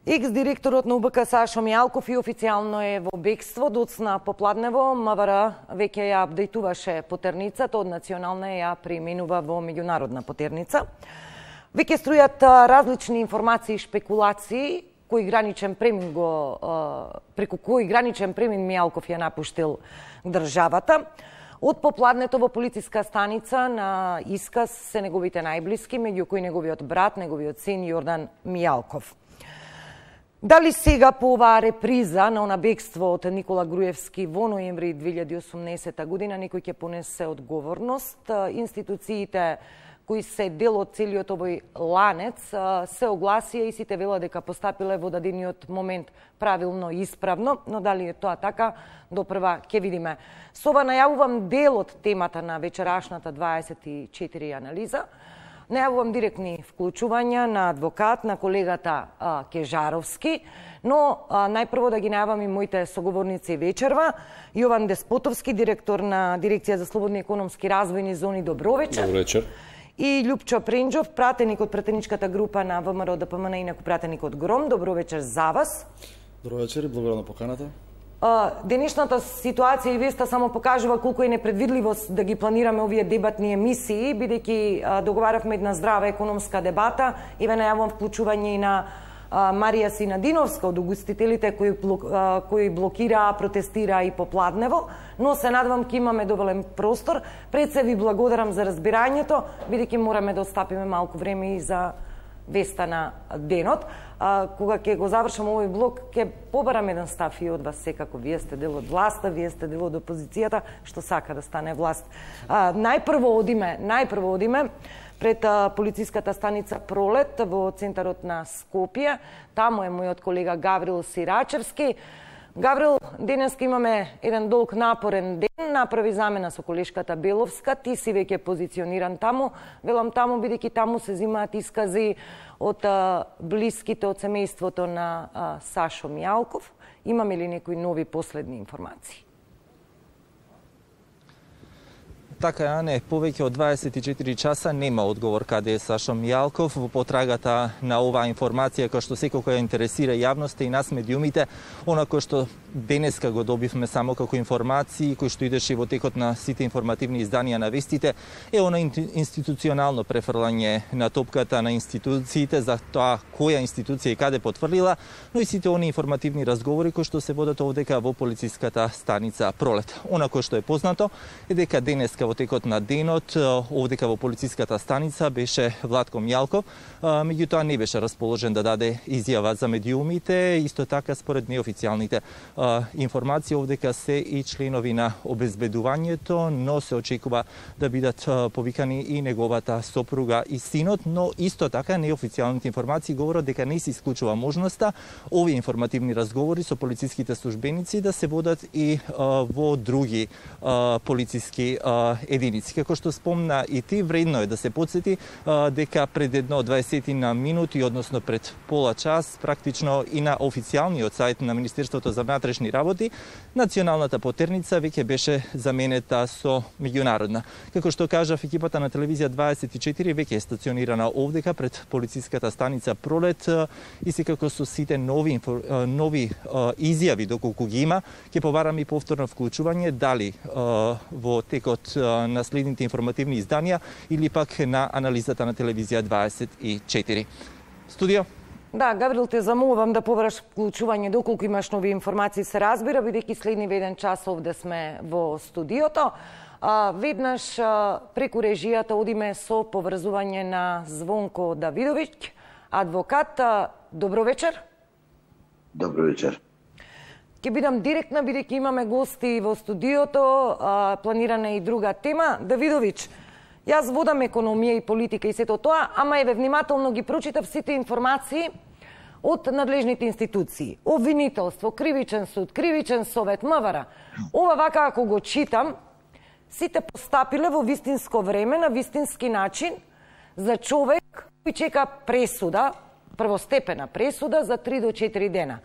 Екс-директорот на УБК Сашо Мијалков и официјално е во бегство. Доцна попладнево, МВР веќе ја апдейтуваше потерницата, од национална ја преименува во меѓународна потерница. Веќе струјат различни информации и шпекулации преку кој граничен премин Мијалков ја напуштил државата. Од попладнето во полициска станица на исказ се неговите најблиски, меѓу кои неговиот брат, неговиот син Јордан Мијалков. Дали сега по оваа реприза на она бегство од Никола Груевски во ноември 2018 година некој ќе понесе одговорност? Институциите кои се дел од целиот овој ланец се огласија и сите велат дека постапиле во дадениот момент правилно и исправно, но дали е тоа така, допрва ќе видиме. Со ова најавувам дел од темата на вечерашната 24 анализа. Најавувам директни вклучувања на адвокат, на колегата Кежаровски, но најпрво да ги најавам и моите соговорници вечерва. Јован Деспотовски, директор на Дирекција за слободни економски развојни зони, добро вечер. Добро вечер. И Љупчо Пренџов, пратеник од пратеничката група на ВМРО ДПМН, инаку пратеник од ГРОМ. Добро вечер за вас. Добро вечер и благодарам на поканата. Денешната ситуација и веста само покажува колку е непредвидливост да ги планираме овие дебатни емисии, бидејќи договаравме една здрава економска дебата и ве најавувам вклучување и на Марија Синадиновска од угостителите кои блокираа, протестираа и попладнево, но се надевам ќе имаме доволен простор. Пред се ви благодарам за разбирањето, бидејќи мораме да остапиме малку време и за веста на денот. Кога ќе го завршам овој блок, ќе побарам еден став и од вас секако. Вие сте дел од власта, вие сте дел од опозицијата, што сака да стане власт. Најпрво одиме пред полициската станица Пролет во центарот на Скопје. Таму е мојот колега Гаврил Сирачевски. Гаврил, денеска имаме еден долг напорен ден, направи замена со колешката Беловска, ти си веќе позициониран таму. Велам таму, бидејќи таму се земаат искази од блиските од семејството на Сашо Мијалков. Имаме ли некои нови последни информации? Така е, не, повеќе од 24 часа нема одговор каде е Сашо Мијалков. Во потрагата на оваа информација, која што секој ја интересира јавноста и нас медиумите, она кој што денеска го добивме само како информации, кој што идеше во текот на сите информативни изданија на вестите, е она институционално префрлање на топката на институциите за тоа која институција и каде потврдила, но и сите они информативни разговори кои што се водат овдека во полициската станица Пролет. Она кој што е познато е дека денеска во текот на денот овдека во полициската станица беше Владко Мијалков, меѓутоа не беше расположен да даде изјава за медиумите. Исто така според неофицијалните информации овдека се и членови на обезбедувањето, но се очекува да бидат повикани и неговата сопруга и синот, но исто така неофицијалните информации говорат дека не се исклучува можноста овие информативни разговори со полициските службеници да се водат и во други полициски единици. Како што спомна и ти, вредно е да се подсети дека пред едно 20 на минути, односно пред пола час, практично и на официјалниот сајт на Министерството за внатрешни работи, националната потерница веќе беше заменета со меѓународна. Како што кажав, екипата на телевизија 24 веќе е стационирана овдека пред полициската станица Пролет и секако со сите нови изјави доколку ги има, ќе побараме и повторно вклучување дали во текот на следните информативни изданија или пак на анализата на телевизија 24. Студио? Да, Гаврил, те замолувам да побараш вклучување доколку имаш нови информации, се разбира, бидејќи следни еден час овде сме во студиото. Веднаш преку режијата одиме со поврзување на Звонко Давидовиќ, адвокат. Добро вечер. Добро вечер. Ќе бидам директна, бидејќи имаме гости во студиото, планирана е и друга тема. Давидовиќ, јас водам економија и политика и сето тоа, ама еве внимателно ги прочитав сите информации од надлежните институции. Обвинителство, кривичен суд, кривичен совет, МВР. Ова вака ако го читам, сите постапиле во вистинско време, на вистински начин, за човек кој чека пресуда, првостепена пресуда за 3 до 4 дена.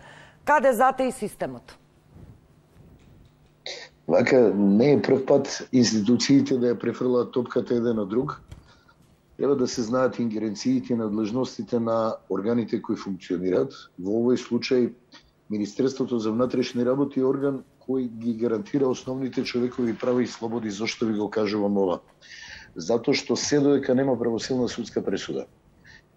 Каде затеи системот? Вака не е прв пат институциите да ја префрлаат топката еден од друг. Треба да се знаат ингеренциите и надлежностите на органите кои функционираат. Во овој случај Министерството за внатрешни работи е орган кој ги гарантира основните човекови права и слободи. Зошто ви го кажувам ова? Затоа што се додека нема правосилна судска пресуда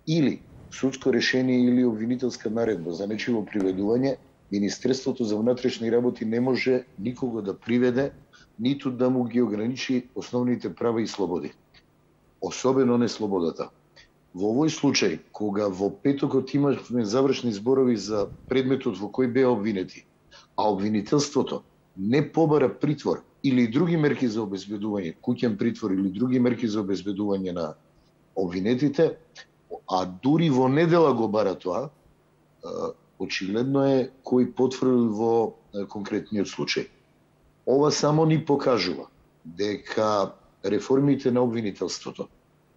или судско решение или обвинителска наредба за нечиво приведување, Министерството за внатрешни работи не може никого да приведе, ниту да му ги ограничи основните права и слободи. Особено не слободата. Во овој случај, кога во петокот имавме завршни зборови за предметот во кој беа обвинети, а обвинителството не побара притвор или други мерки за обезбедување, куќен притвор или други мерки за обезбедување на обвинетите, а дури во недела го бара тоа, очигледно е кој потврди во конкретниот случај. Ова само ни покажува дека реформите на обвинителството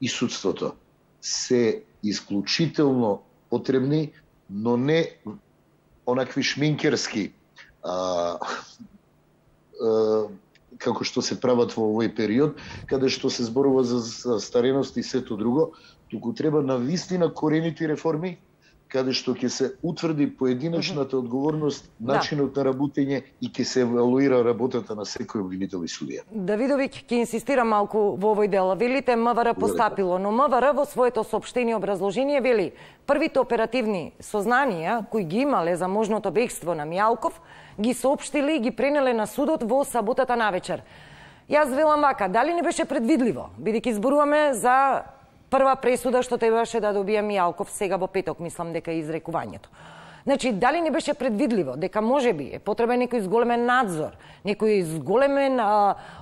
и судството се исклучително потребни, но не онакви шминкерски како што се прават во овој период, каде што се зборува за стареност и сето друго, туку треба навистина корените реформи, каде што ќе се утврди поединечната одговорност, начинот на работење и ќе се евалуира работата на секој обвинител и судија. Давидовиќ, ќе инсистирам малку во овој дел. Велите МВР постапило, но МВР во своето соопштение и образложение вели првите оперативни сознанија кои ги имале за можното бегство на Мијалков, ги соопштили и ги пренеле на судот во саботата навечер. Јас велам вака, дали не беше предвидливо, бидејќи зборуваме за прва пресуда што требаше да добија Мијалков сега во петок, мислам дека е изрекувањето. Значи, дали не беше предвидливо дека можеби е потребен некој зголемен надзор, некој зголемен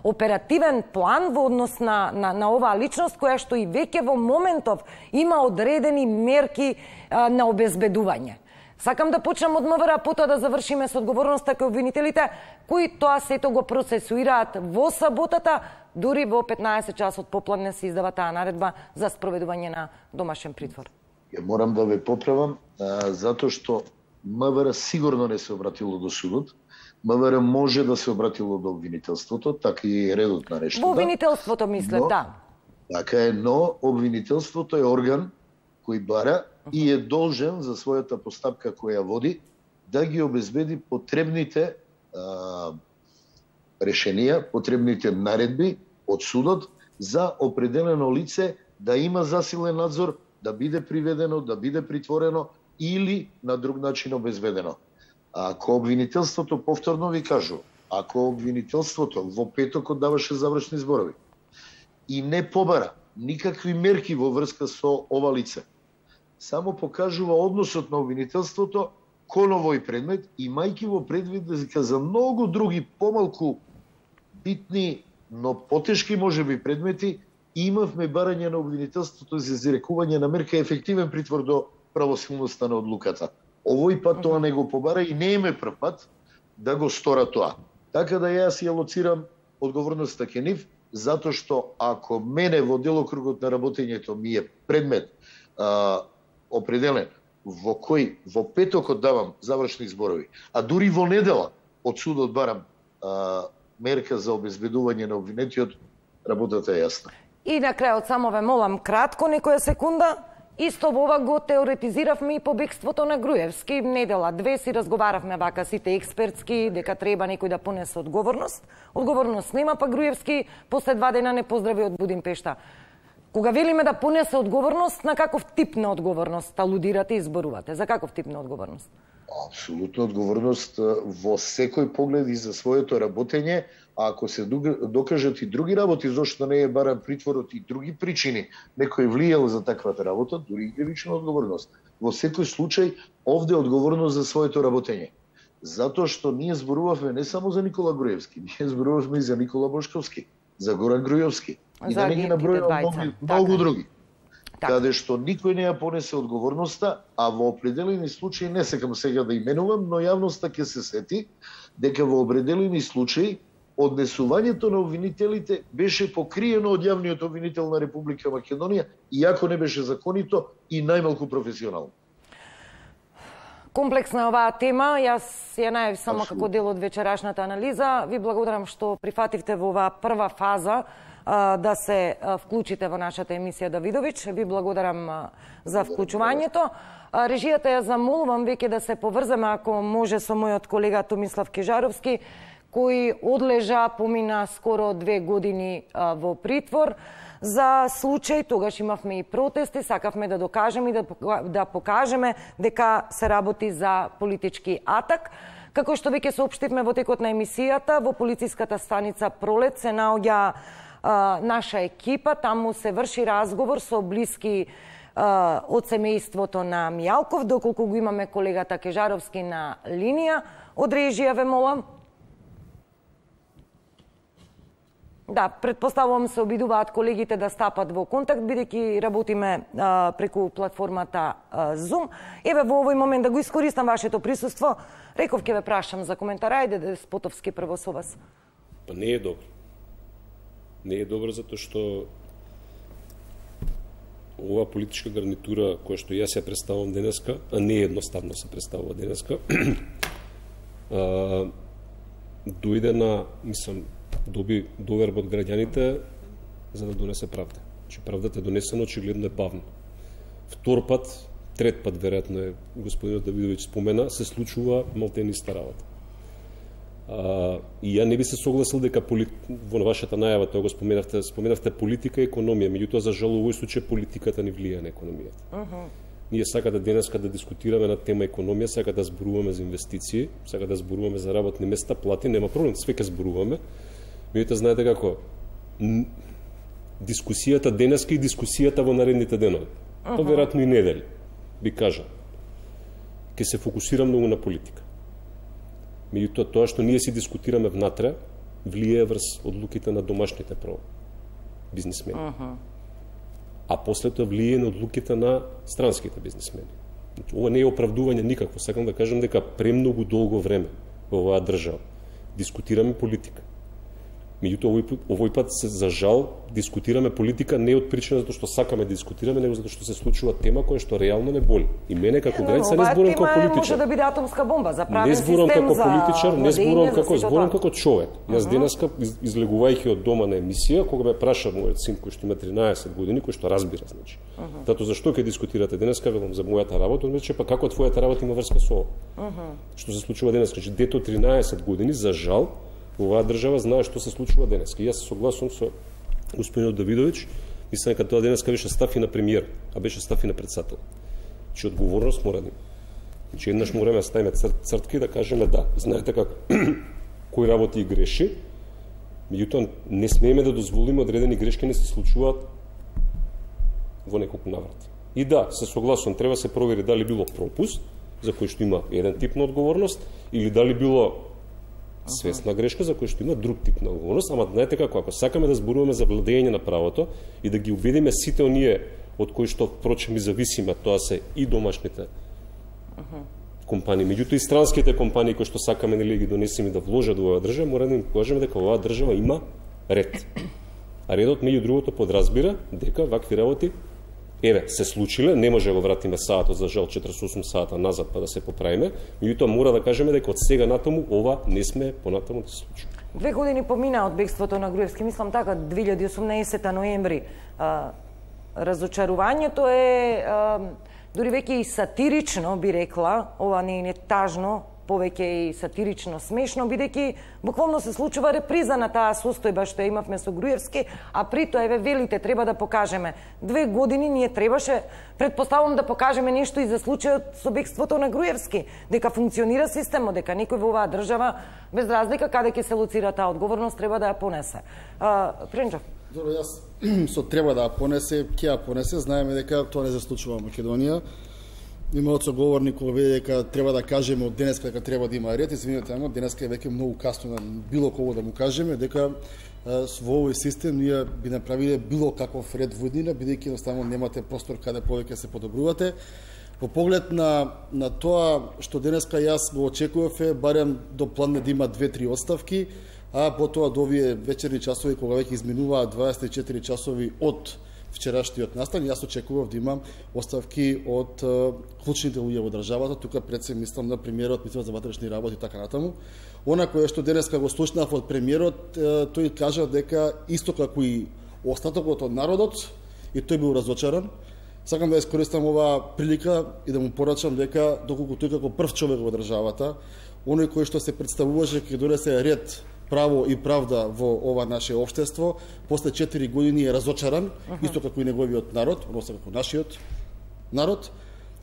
оперативен план во однос на оваа личност која што и веќе во моментов има одредени мерки на обезбедување. Сакам да почнам од МВР, а потоа да завршиме со одговорноста кај обвинителите, кои тоа сето го процесуираат во саботата, дури во 15 часот попладне се издава таа наредба за спроведување на домашен притвор. Ја морам да ве поправам, затоа што МВР сигурно не се обратило до судот. МВР може да се обратило до обвинителството, така и редот на нештата. Во обвинителството мислев, да. Така е, но обвинителството е орган кој бара и е должен за својата постапка која води да ги обезбеди потребните решенија, потребните наредби од судот за определено лице да има засилен надзор, да биде приведено, да биде притворено или на друг начин обезбедено. Ако обвинителството, повторно ви кажу, ако обвинителството во петокот даваше завршни зборови и не побара никакви мерки во врска со ова лице, само покажува односот на обвинителството кон овој предмет, имајќи во предвид дека за многу други помалку битни, но потешки можеби предмети, имавме барање на обвинителството за изрекување на мерка и ефективен притвор до правосилноста на одлуката. Овој пат тоа не го побара и не е прв пат да го стора тоа. Така да јас ја лоцирам одговорноста ке нив, затоа што ако мене во делокругот на работењето ми е предмет определен во кој во петокот давам завршни зборови, а дури во недела од судот барам мерка за обезбедување на обвинетиот, работата е јасна. И на крајот само ве молам кратко некоја секунда. Исто во ова го теоретизиравме и побегството на Груевски. Недела 2 си разговаравме вака сите експертски дека треба некој да понесе одговорност. Одговорност нема, па Груевски после 2 дена не поздрави од Будимпешта. Кога велиме да понесе одговорност, на каков тип на одговорност алудирате и зборувате? За каков тип на одговорност? Апсолутно одговорност во секој поглед и за своето работење, а ако се докажат и други работи, зашто не е баран притворот и други причини, некој влијал за таквата работа, дури и кривична одговорност. Во секој случај, овде е одговорност за своето работење. Затоа што ние зборувавме не само за Никола Груевски, ние зборувавме и за Никола Бошковски, за Горан Груевски. И да не ги набројувам многу други. Каде што никој не ја понесе одговорноста, а во определени случаи, не секам сега да именувам, но јавноста ќе се сети дека во определени случаи однесувањето на обвинителите беше покриено од јавниот обвинител на Република Македонија, иако не беше законито и најмалку професионално. Комплексна оваа тема, јас ја најав само како дел од вечерашната анализа. Ви благодарам што прифативте во оваа прва фаза да се вклучите во нашата емисија Давидовиќ. Ви благодарам за вклучувањето. Режијата ја замолувам веќе да се поврземе, ако може, со мојот колега Томислав Кежаровски, кој одлежа, помина скоро 2 години во притвор за случај. Тогаш имавме и протести, сакавме да докажеме и да покажеме дека се работи за политички атак. Како што веќе соопштивме во текот на емисијата, во полициската станица Пролет се наоѓа наша екипа. Таму се врши разговор со блиски од семејството на Мијалков, доколку го имаме колегата Кежаровски на линија. Од режија ве молам. Да, предпоставувам се обидуваат колегите да стапат во контакт, бидејќи работиме преку платформата Zoom. Еве во овој момент да го искористам вашето присуство, реков ќе ве прашам за коментар. Ајде, Деспотовски, прво со вас. Па не е добро. Не е добро затоа што ова политичка гарнитура која што јас ја представувам денеска, а не едноставно се представува денеска, дојде на, доби доверба од граѓаните за да донесе правда. Че правдата е донесена, очигледно е бавно. Втор пат, трет пат, веројатно е господинот Давидовиќ спомена, се случува малтени иста работа. И ја не би се согласил дека во вашата најава, тоа го споменавте политика и економија, меѓутоа за жал овој случај политиката ни влијае на економијата. Ние сакате денеска да дискутираме на тема економија, сакате да зборуваме за инвестиции, сакате да зборуваме за работни места, плати, нема проблем, све ќе зборуваме. Меѓутоа знаете како, дискусијата денеска и дискусијата во наредните денови, па веројатно и недели, би кажал, ќе се фокусира многу на политика. Меѓутоа тоа што ние си дискутираме внатре, влијае врз одлуките на домашните бизнисмени. А после тоа влијае на одлуките на странските бизнисмени. Ова не е оправдување никакво. Сакам да кажам дека премногу долго време во оваа држава дискутираме политика. Меѓутоа овој пат за жал дискутираме политика не од причина затоа што сакаме да дискутираме, него затоа што се случува тема која што реално не боли. И мене како граѓанин не зборувам како политичар. Може да биде атомска бомба за правен систем, не зборувам како за политичар, не зборувам како зборувам како човек. Јас денеска излегувајќи од дома на емисија, кога ме праша мојот син кој што има 13 години, кој што разбира, значи. Тато зашто ќе дискутирате денеска, велам за мојата работа, он рече па како твојата работа има врска со ова. Што се случува денеска, че дето 13 години за жал оваа држава знае што се случува денеска. И јас се согласувам со господинот Давидовиќ, мислам дека тоа денеска беше став и на премиер, а беше став и на председател. Че одговорност мора да има. Че еднаш мораме да ставиме цртки и да кажеме да, знаете како кој работи и греши, меѓутоа не смееме да дозволиме одредени грешки не се случуваат во неколку наврати. И да, се согласувам, треба се провери дали било пропуст, за кој што има еден тип на одговорност, или дали било свесна грешка за кој што има друг тип на одговорност, ама знаете како, ако сакаме да зборуваме за владење на правото и да ги убедиме сите оние од кои што впрочем и зависиме, тоа се и домашните компании, меѓутоа и странските компании кои што сакаме нели ги донесеме да вложат во оваа држава, мора да им кажеме дека оваа држава има ред. А редот меѓу другото подразбира дека вакви работи се случиле, не може да го вратиме саатот за жал 48 сата назад па да се поправиме, меѓутоа мора да кажеме дека од сега натаму ова не сме понатаму да се случи. 2 години помина од бегството на Груевски, мислам така 2018 ноември. Разочарувањето е дури веќе и сатирично, би рекла, ова не е тажно, повеќе и сатирично смешно, бидејќи буквално се случува реприза на таа состојба што имавме со Груевски, а при тоа еве велите треба да покажеме. 2 години ние требаше, предпоставувам да покажеме нешто и за случајот со бегството на Груевски, дека функционира системот, дека некој во оваа држава без разлика каде ќе се лоцира таа одговорност треба да ја понесе. Пренџов. Добро, јас со треба да ја понесе, ќе ја понесе, знаеме дека тоа не се случува во Македонија. Имаот соговорник кој вели дека треба да кажеме од денеска дека треба да има ред, извинете, ама денеска е веќе многу касно на било кого да му кажеме дека во овој систем ние би направиле било каков ред во иднина, бидејќи едноставно немате простор каде повеќе се подобрувате. По поглед на тоа што денеска јас го очекував е барем до план да има 2-3 оставки, а потоа до овие вечерни часови кога веќе изминуваат 24 часови од вчерашниот настан. Јас очекував да имам оставки од клучните луѓе во државата, тука пред се мислам на премиерот, мислам за ватрешни работи и така натаму. Она кое што денеска го слушнав од премиерот, тој кажа дека исто како и остатокот од народот, и тој бил разочаран. Сакам да искористам оваа прилика и да му порачам дека доколку тој како прв човек во државата, оној кој што се представуваше ќе донесе ред, право и правда во ова наше општество, после 4 години е разочаран, исто како и неговиот народ, односно како нашиот народ,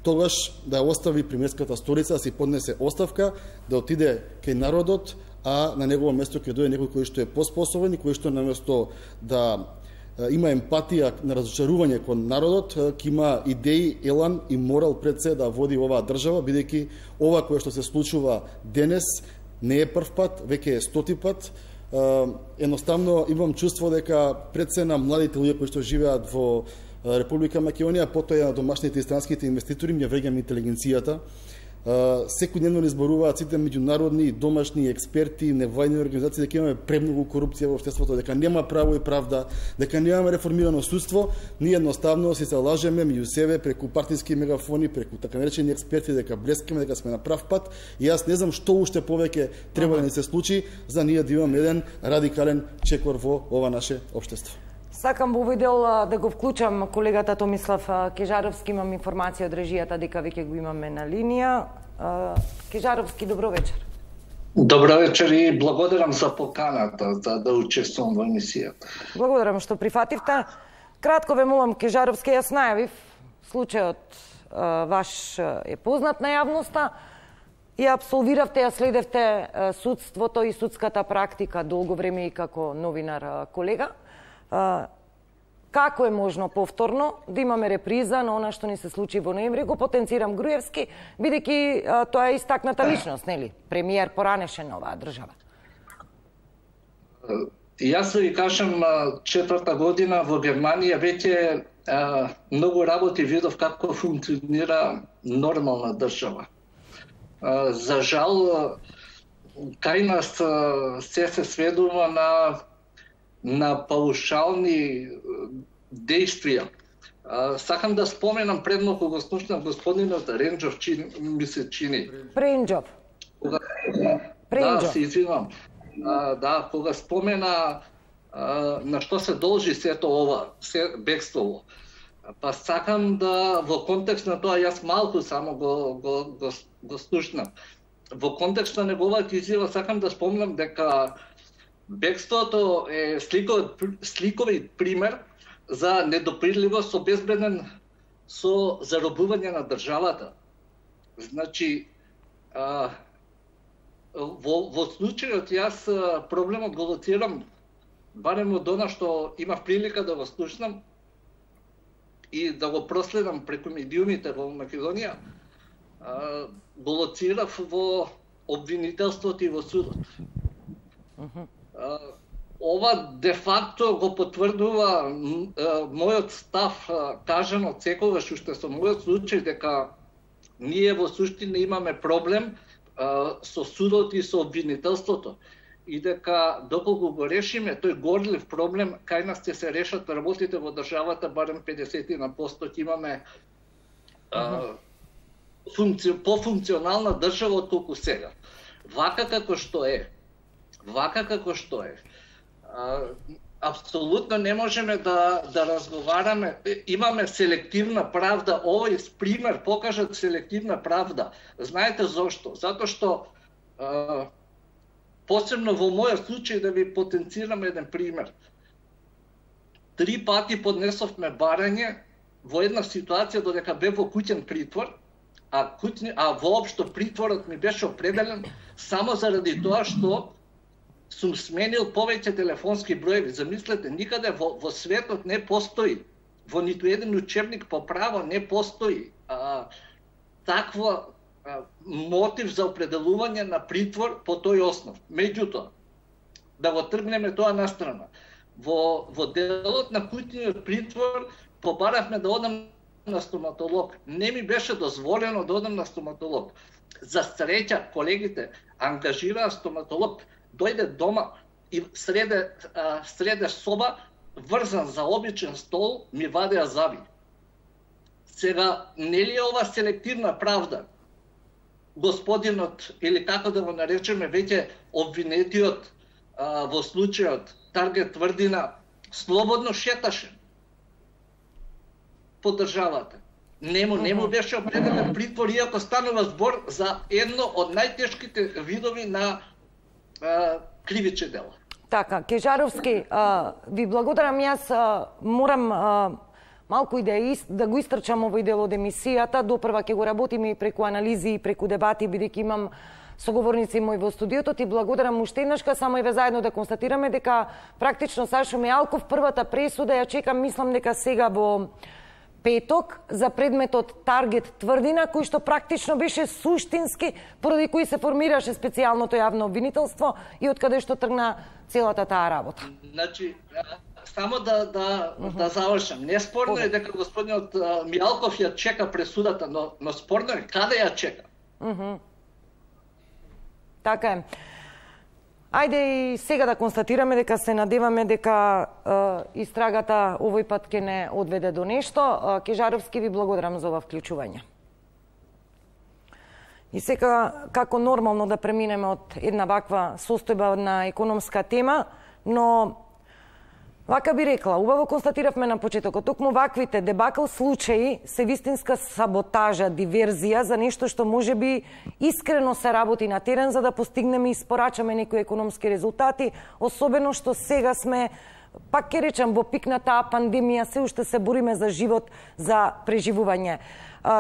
тогаш да остави премиерската столица, да си поднесе оставка, да отиде кај народот, а на негово место ќе дојде некој кој што е поспособен и кој што наместо да има емпатија на разочарување кон народот, ќе има идеи, елан и морал пред се да води оваа држава, бидејќи ова кое што се случува денес не е прв пат, веќе е 100-ти пат. Едноставно имам чувство дека пред се на младите луѓе кои што живеат во Република Македонија, потоа на домашните и странските инвеститори, ми ја вреѓам интелигенцијата. Секојдневно ни зборуваат сите меѓународни, домашни експерти, невладини организации дека имаме премногу корупција во општеството, дека нема право и правда, дека немаме реформирано судство. Ние едноставно си се лажеме меѓу себе преку партиски мегафони, преку така наречени експерти дека блескаме, дека сме на прав пат. И јас не знам што уште повеќе треба да ни се случи за ние да имаме еден радикален чекор во ова наше општество. Сакам во овој дел да го вклучам колегата Томислав Кежаровски, имам информација од режијата дека веќе го имаме на линија. Кежаровски, добро вечер. Добро вечер и благодарам за поканата за да учествувам во емисијата. Благодарам што прифативте. Кратко ве молам, Кежаровски, јас најавив, случајот ваш е познат на јавноста, ја абсолвиравте, ја следевте судството и судската практика долго време и како новинар колега. Како е можно повторно да имаме реприза на она што ни се случи во ноември? Го потенцирам Груевски, бидејќи тоа е истакната личност, нели? Премиер поранешен на оваа држава. Јас ви кажам, 4-та година во Германија веќе многу работи видов како функционира нормална држава. За жал, кај нас се сведува на паушални действија. Сакам да споменам предно кога слушнав господинот Ренџов, ми се чини. Пренџов. Да, се извинувам. Да, кога спомена на што се должи сето ова, бегството. Па сакам да во контекст на тоа јас малку само го слушнав. Во контекст на неговата изјава сакам да спомнам дека бегството е сликовит пример за недопирливост обезбеден со заробување на државата. Значи, во случајот јас проблемот го лоцирам барем од она што имав прилика да го слушнам и да го проследам преку медиумите во Македонија, го лоцирав во обвинителството и во судот. Ова де факто го потврдува мојот став, кажан од секогаш уште со мојот случај, дека ние во суштина имаме проблем со судот и со обвинителството и дека доколку го решиме тој горлив проблем, кај нас ќе се решат работите во државата, барем 50% ќе имаме пофункционална држава отколку сега. Вака како што е, апсолутно не можеме да разговараме. Имаме селективна правда. Овој пример покажат селективна правда. Знаете зошто? Затоа што посебно во мојот случај да ви потенцирам еден пример. 3 пати поднесовме барање во една ситуација додека бев во куќен притвор, а воопшто притворот ми беше определен само заради тоа што сум сменил повеќе телефонски броеви. Замислете, никаде во светот не постои, во ниту еден учебник по право не постои таква мотив за определување на притвор по тој основ. Меѓутоа, да го тргнеме тоа на страна. Во делот на куќниот притвор побаравме да одам на стоматолог. Не ми беше дозволено да одам на стоматолог. За среќа, колегите ангажираа стоматолог, дојде дома и среде соба, врзан за обичен стол, ми вадеа зави. Сега, нели е ова селективна правда? Господинот, или како да го наречеме, веќе обвинетиот во случајот Таргет Тврдина, слободно шеташе по државата. Не му беше определен притвор, иако станува збор за едно од најтешките видови на кривични дела. Така, Кежаровски, ви благодарам. Јас морам малку и да го истрчам овој дел од емисијата. Допрва ќе го работиме и преку анализи и преку дебати, бидејќи имам соговорници мои во студиото. Ти благодарам уште еднашка, само и ве заедно да констатираме дека практично Сашо Мијалков првата пресуда ја чекам, мислам дека сега во петок, за предметот Таргет Тврдина, кој што практично беше суштински, поради кој се формираше специјалното јавно обвинителство и од каде што тргна целата таа работа. Значи, само да завршам. Неспорно е дека господинот Мијалков ја чека пресудата, но спорно е каде ја чека. Така е. Ајде и сега да констатираме дека се надеваме дека истрагата овој пат ќе не одведе до нешто. Кежаровски, ви благодарам за ова вклучување. И сега, како нормално да преминеме од една ваква состојба на економска тема, но вака би рекла, убаво констатиравме на почетокот, токму ваквите дебакл случаи се вистинска саботажа, диверзија за нешто што може би искрено се работи на терен за да постигнеме и испорачаме некои економски резултати, особено што сега сме, пак ќе речам, во пик на таа пандемија, се уште се бориме за живот, за преживување.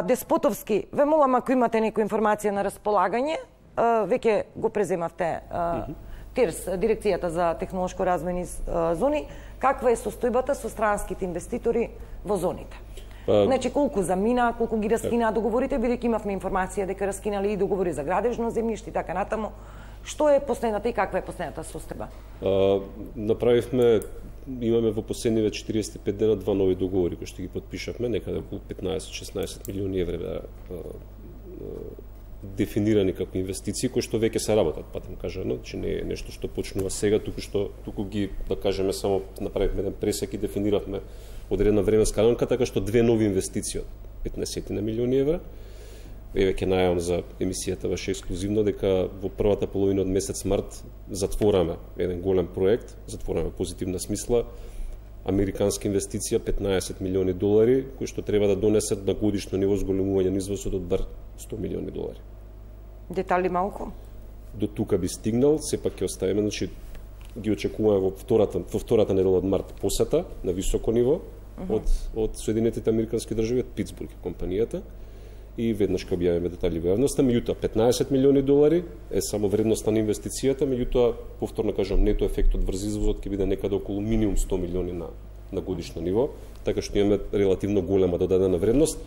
Деспотовски, ве молам, ако имате некоја информација на располагање, веќе го преземавте ТИРС, Дирекцијата за технолошко развојни зони, каква е состојбата со странските инвеститори во зоните? Значи, колку замина, колку ги раскинаа договорите, бидејќи имавме информација дека раскинали и договори за градежно земјиште и така натаму. Што е последната и каква е последната состојба? Направивме, имаме во последниве 45 дена два нови договори кои што ги потпишавме, некаде околу 15-16 милиони евра дефинирани како инвестиции кои што веќе се работат, патем кажано, че не е нешто што почнува сега, туку ги, да кажеме, само направивме еден пресек и дефиниравме одредена временска рамка, така што две нови инвестиции од 15 на милиони евра. Еве ќе најавам за емисијата ваше ексклузивно дека во првата половина од месец март затвораме еден голем проект, затвораме позитивна смисла, американска инвестиција 15 милиони долари, кои што треба да донесат на годишно ниво зголемување на извозот од бар 100 милиони долари. Детали малку? До тука би стигнал, сепак ќе оставиме, значи ги очекуваме во втората недела од март посета на високо ниво од Соединетите американски држави, од Питсбург компанијата, и веднаш ќе објавиме детали во јавноста. Меѓутоа 15 милиони долари е само вредноста на инвестицијата, меѓутоа повторно кажам, нето ефектот врз извозот ќе биде некаде околу минимум 100 милиони на годишно ниво, така што имаме релативно голема додадена вредност.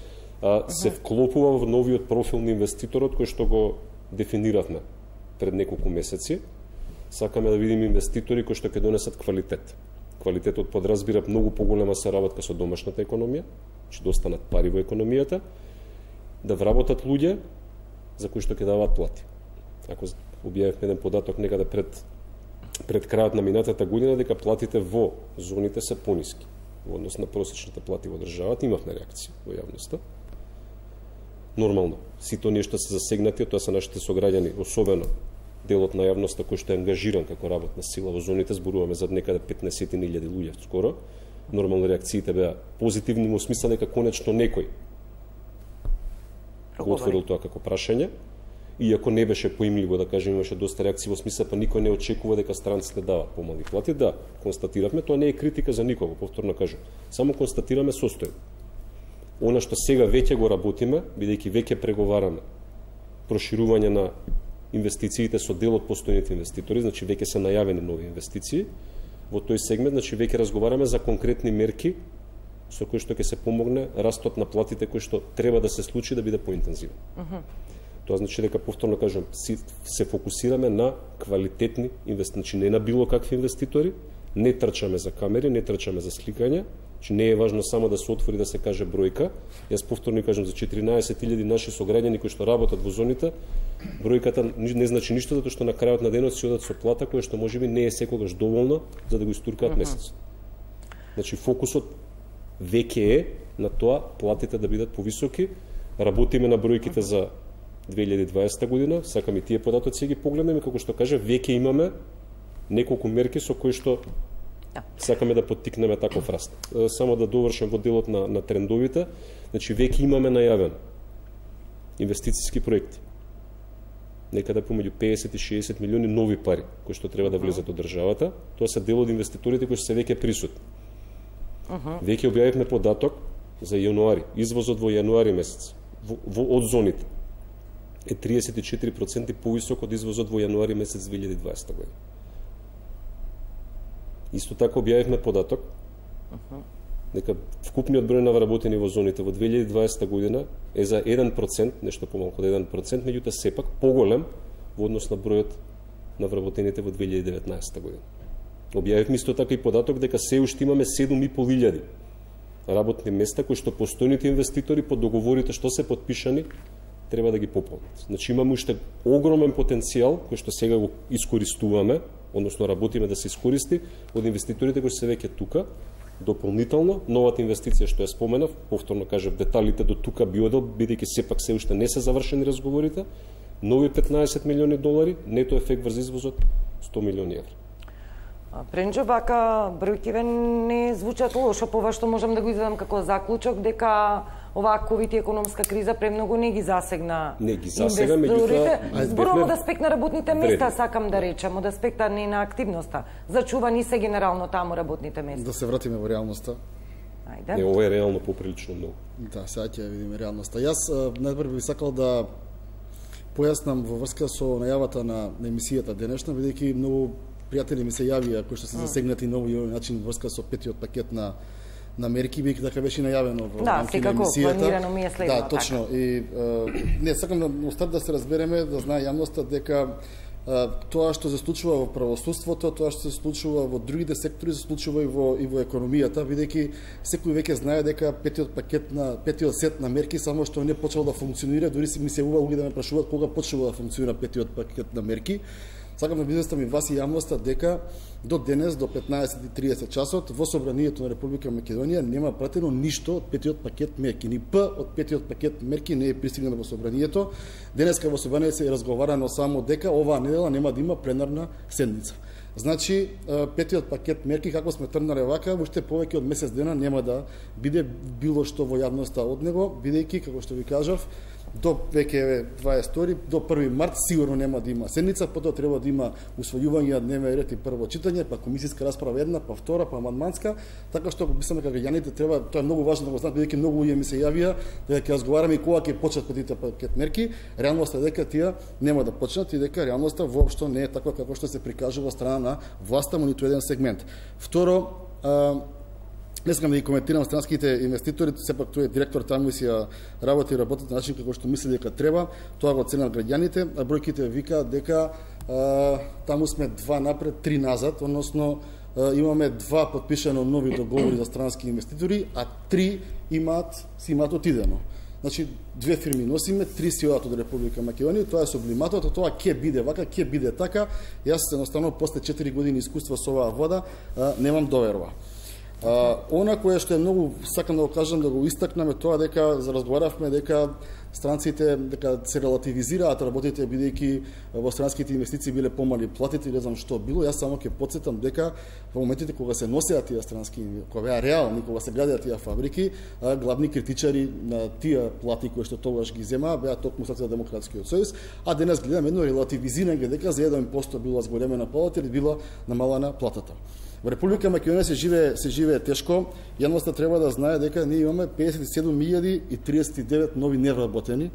Се вклопува во новиот профил на инвеститорот кој што го дефиниравме пред неколку месеци. Сакаме да видиме инвеститори кои што ќе донесат квалитет. Квалитетот подразбира многу поголема соработка со домашната економија, че да останат пари во економијата, да вработат луѓе за кои што ќе даваат плати. Ако објавивме еден податок некаде пред крајот на минатата година дека платите во зоните се пониски во однос на просечните плати во државата, имавме реакција во јавноста. Нормално, сите оние што се засегнати, тоа се нашите сограѓани, особено делот на јавноста кој што е ангажиран како работна сила во зоните, зборуваме за некаде 15.000 луѓе скоро. Нормално реакциите беа позитивни во смисла дека конечно некој го отворил тоа како прашање, иако не беше поимливо, да кажем, имаше доста реакции во смисла, па никој не очекува дека странците дават помали плати. Да, констатиравме, тоа не е критика за никого, повторно кажам. Само констатираме состојба. Она што сега веќе го работиме, бидејќи веќе преговараме проширување на инвестициите со дел од постојните инвеститори, значи веќе се најавени нови инвестиции, во тој сегмент, значи веќе разговараме за конкретни мерки со кои што ќе се помогне растот на платите кои што треба да се случи да биде поинтензивен. Тоа значи дека, повторно кажам, се фокусираме на квалитетни инвестиции, значи не на било какви инвеститори, не трчаме за камери, не трчаме за сликање, че не е важно само да се отвори да се каже бројка. Јас повторно кажам за 14.000 наши сограѓани кои што работат во зоните, бројката не значи ништо, затоа што на крајот на денот си одат со плата која што можеби не е секогаш доволна за да го истуркаат месец. Значи фокусот веќе е на тоа платите да бидат повисоки. Работиме на бројките за 2020 година, сакам и тие податоци ги погледнеме, како што кажа, веќе имаме неколку мерки со кои што сакаме да поттикнеме таков раст. Само да довршам во делот на трендовите, значи веќе имаме најавен инвестициски проекти. Некаде помеѓу 50 и 60 милиони нови пари кои што треба да влезат од државата. Тоа се дел од инвеститорите кои се веќе присутни. Веќе објавивме податок за јануари, извозот во јануари месец од зоните е 34% повисок од извозот во јануари месец 2020 година. Исто така објавивме податок дека вкупниот број на вработени во зоните во 2020 година е за 1%, нешто помалку од 1%, меѓутоа сепак поголем во однос на бројот на вработените во 2019 година. Објавивме исто така и податок дека се уште имаме 7.500 работни места кои што постојните инвеститори по договорите што се подпишани треба да ги пополнат. Значи имаме уште огромен потенцијал кој што сега го искористуваме, односно работиме да се искористи од инвеститорите кои се веќе тука. Дополнително, новата инвестиција што ја споменав, повторно кажав, деталите до тука би одел, бидејќи сепак се уште не се завршени разговорите, нови 15 милиони долари, нето ефект врз извозот 100 милиони евра. Пренџо, вака бројкиве не звучат лошо, пова што можам да го изведам како заклучок дека оваа ковид и економска криза премногу не ги засегна инвеститорите. Зборувам од аспект на работните места, сакам да речем, од аспекта не на активноста. Зачувани се генерално таму работните места. Да се вратиме во реалноста. Ајде. Не, ова е реално поприлично многу. Да, сега ќе видиме реалноста. Јас најпрво би сакал да појаснам во врска со најавата на емисијата денешна, бидејќи многу пријатели ми се јавија кои што се засегнати на овој начин врска со петиот пакет на мерки, бидејќи така беше најавено во рамките на емисијата. Планирано ми е следно. Да, точно. Така. И не сакам да старт да се разбереме, да знае јавноста дека тоа што се случува во правосудството, тоа што се случува во другите сектори, се случува и во економијата, бидејќи секој веќе знае дека петиот сет на мерки само што не почел да функционира, дури ми се луѓе да ме прашуваат кога почнува да функционира петиот пакет на мерки. Сакам да известам и вас и јавноста дека до денес, до 15:30 часот, во Собранието на Република Македонија нема пратено ништо од петиот пакет мерки. Ни П од петиот пакет мерки не е пристигнало во Собранието. Денеска во Собранието се разговарано само дека оваа недела нема да има пленарна седница. Значи, петиот пакет мерки, како сме тргнале вака, уште повеќе од месец дена нема да биде било што во јавноста од него, бидејќи, како што ви кажав, до веќе 22, до 1 март сигурно нема да има седница, потоа треба да има усвојување на дневен ред и прво читање, па комисиска расправа една, па втора, па амандманска, така што мислам дека граѓаните треба, тоа е многу важно да го знаат, бидејќи многу луѓе ми се јавија дека ќе разговараме и кога ќе почнат петите пакет мерки. Реалноста е дека тие нема да почнат и дека реалноста воопшто не е таква како што се прикажува од страна на власта во ниту еден сегмент. Второ, не сакам да ги коментирам странските инвеститори, сепак тој е директор таму и си работи на начин како што мисли дека треба, тоа го ценат граѓаните, а бројките вика дека таму сме 2 напред, 3 назад, односно имаме 2 подпишано нови договори за странски инвеститори, а 3 си имаат отидено. Значи, 2 фирми носиме, 3 си одат од Република Македонија, тоа е сублиматот, тоа ќе биде вака, ќе биде така. Јас едноставно после 4 години искуство со оваа вода немам доверба. Она кое што е многу, сакам да го кажам, да го истакнеме, тоа дека разговаравме дека странците дека се релативизираат работите бидејќи во странските инвестиции биле помали платите, не знам што било. Јас само ќе потсетам дека во моментите кога се носеа тие странски, кога беа реални, кога се градеа тие фабрики, главни критичари на тие плати кои што тогаш ги земаа беа токму Социјалдемократскиот сојуз, а денес гледаме едно релативизирање дека за 1% било зголемена плата или била намалена платата. Во Република Македонија се живее тешко. Јавноста треба да знае дека ние имаме 57.039 нови невработени.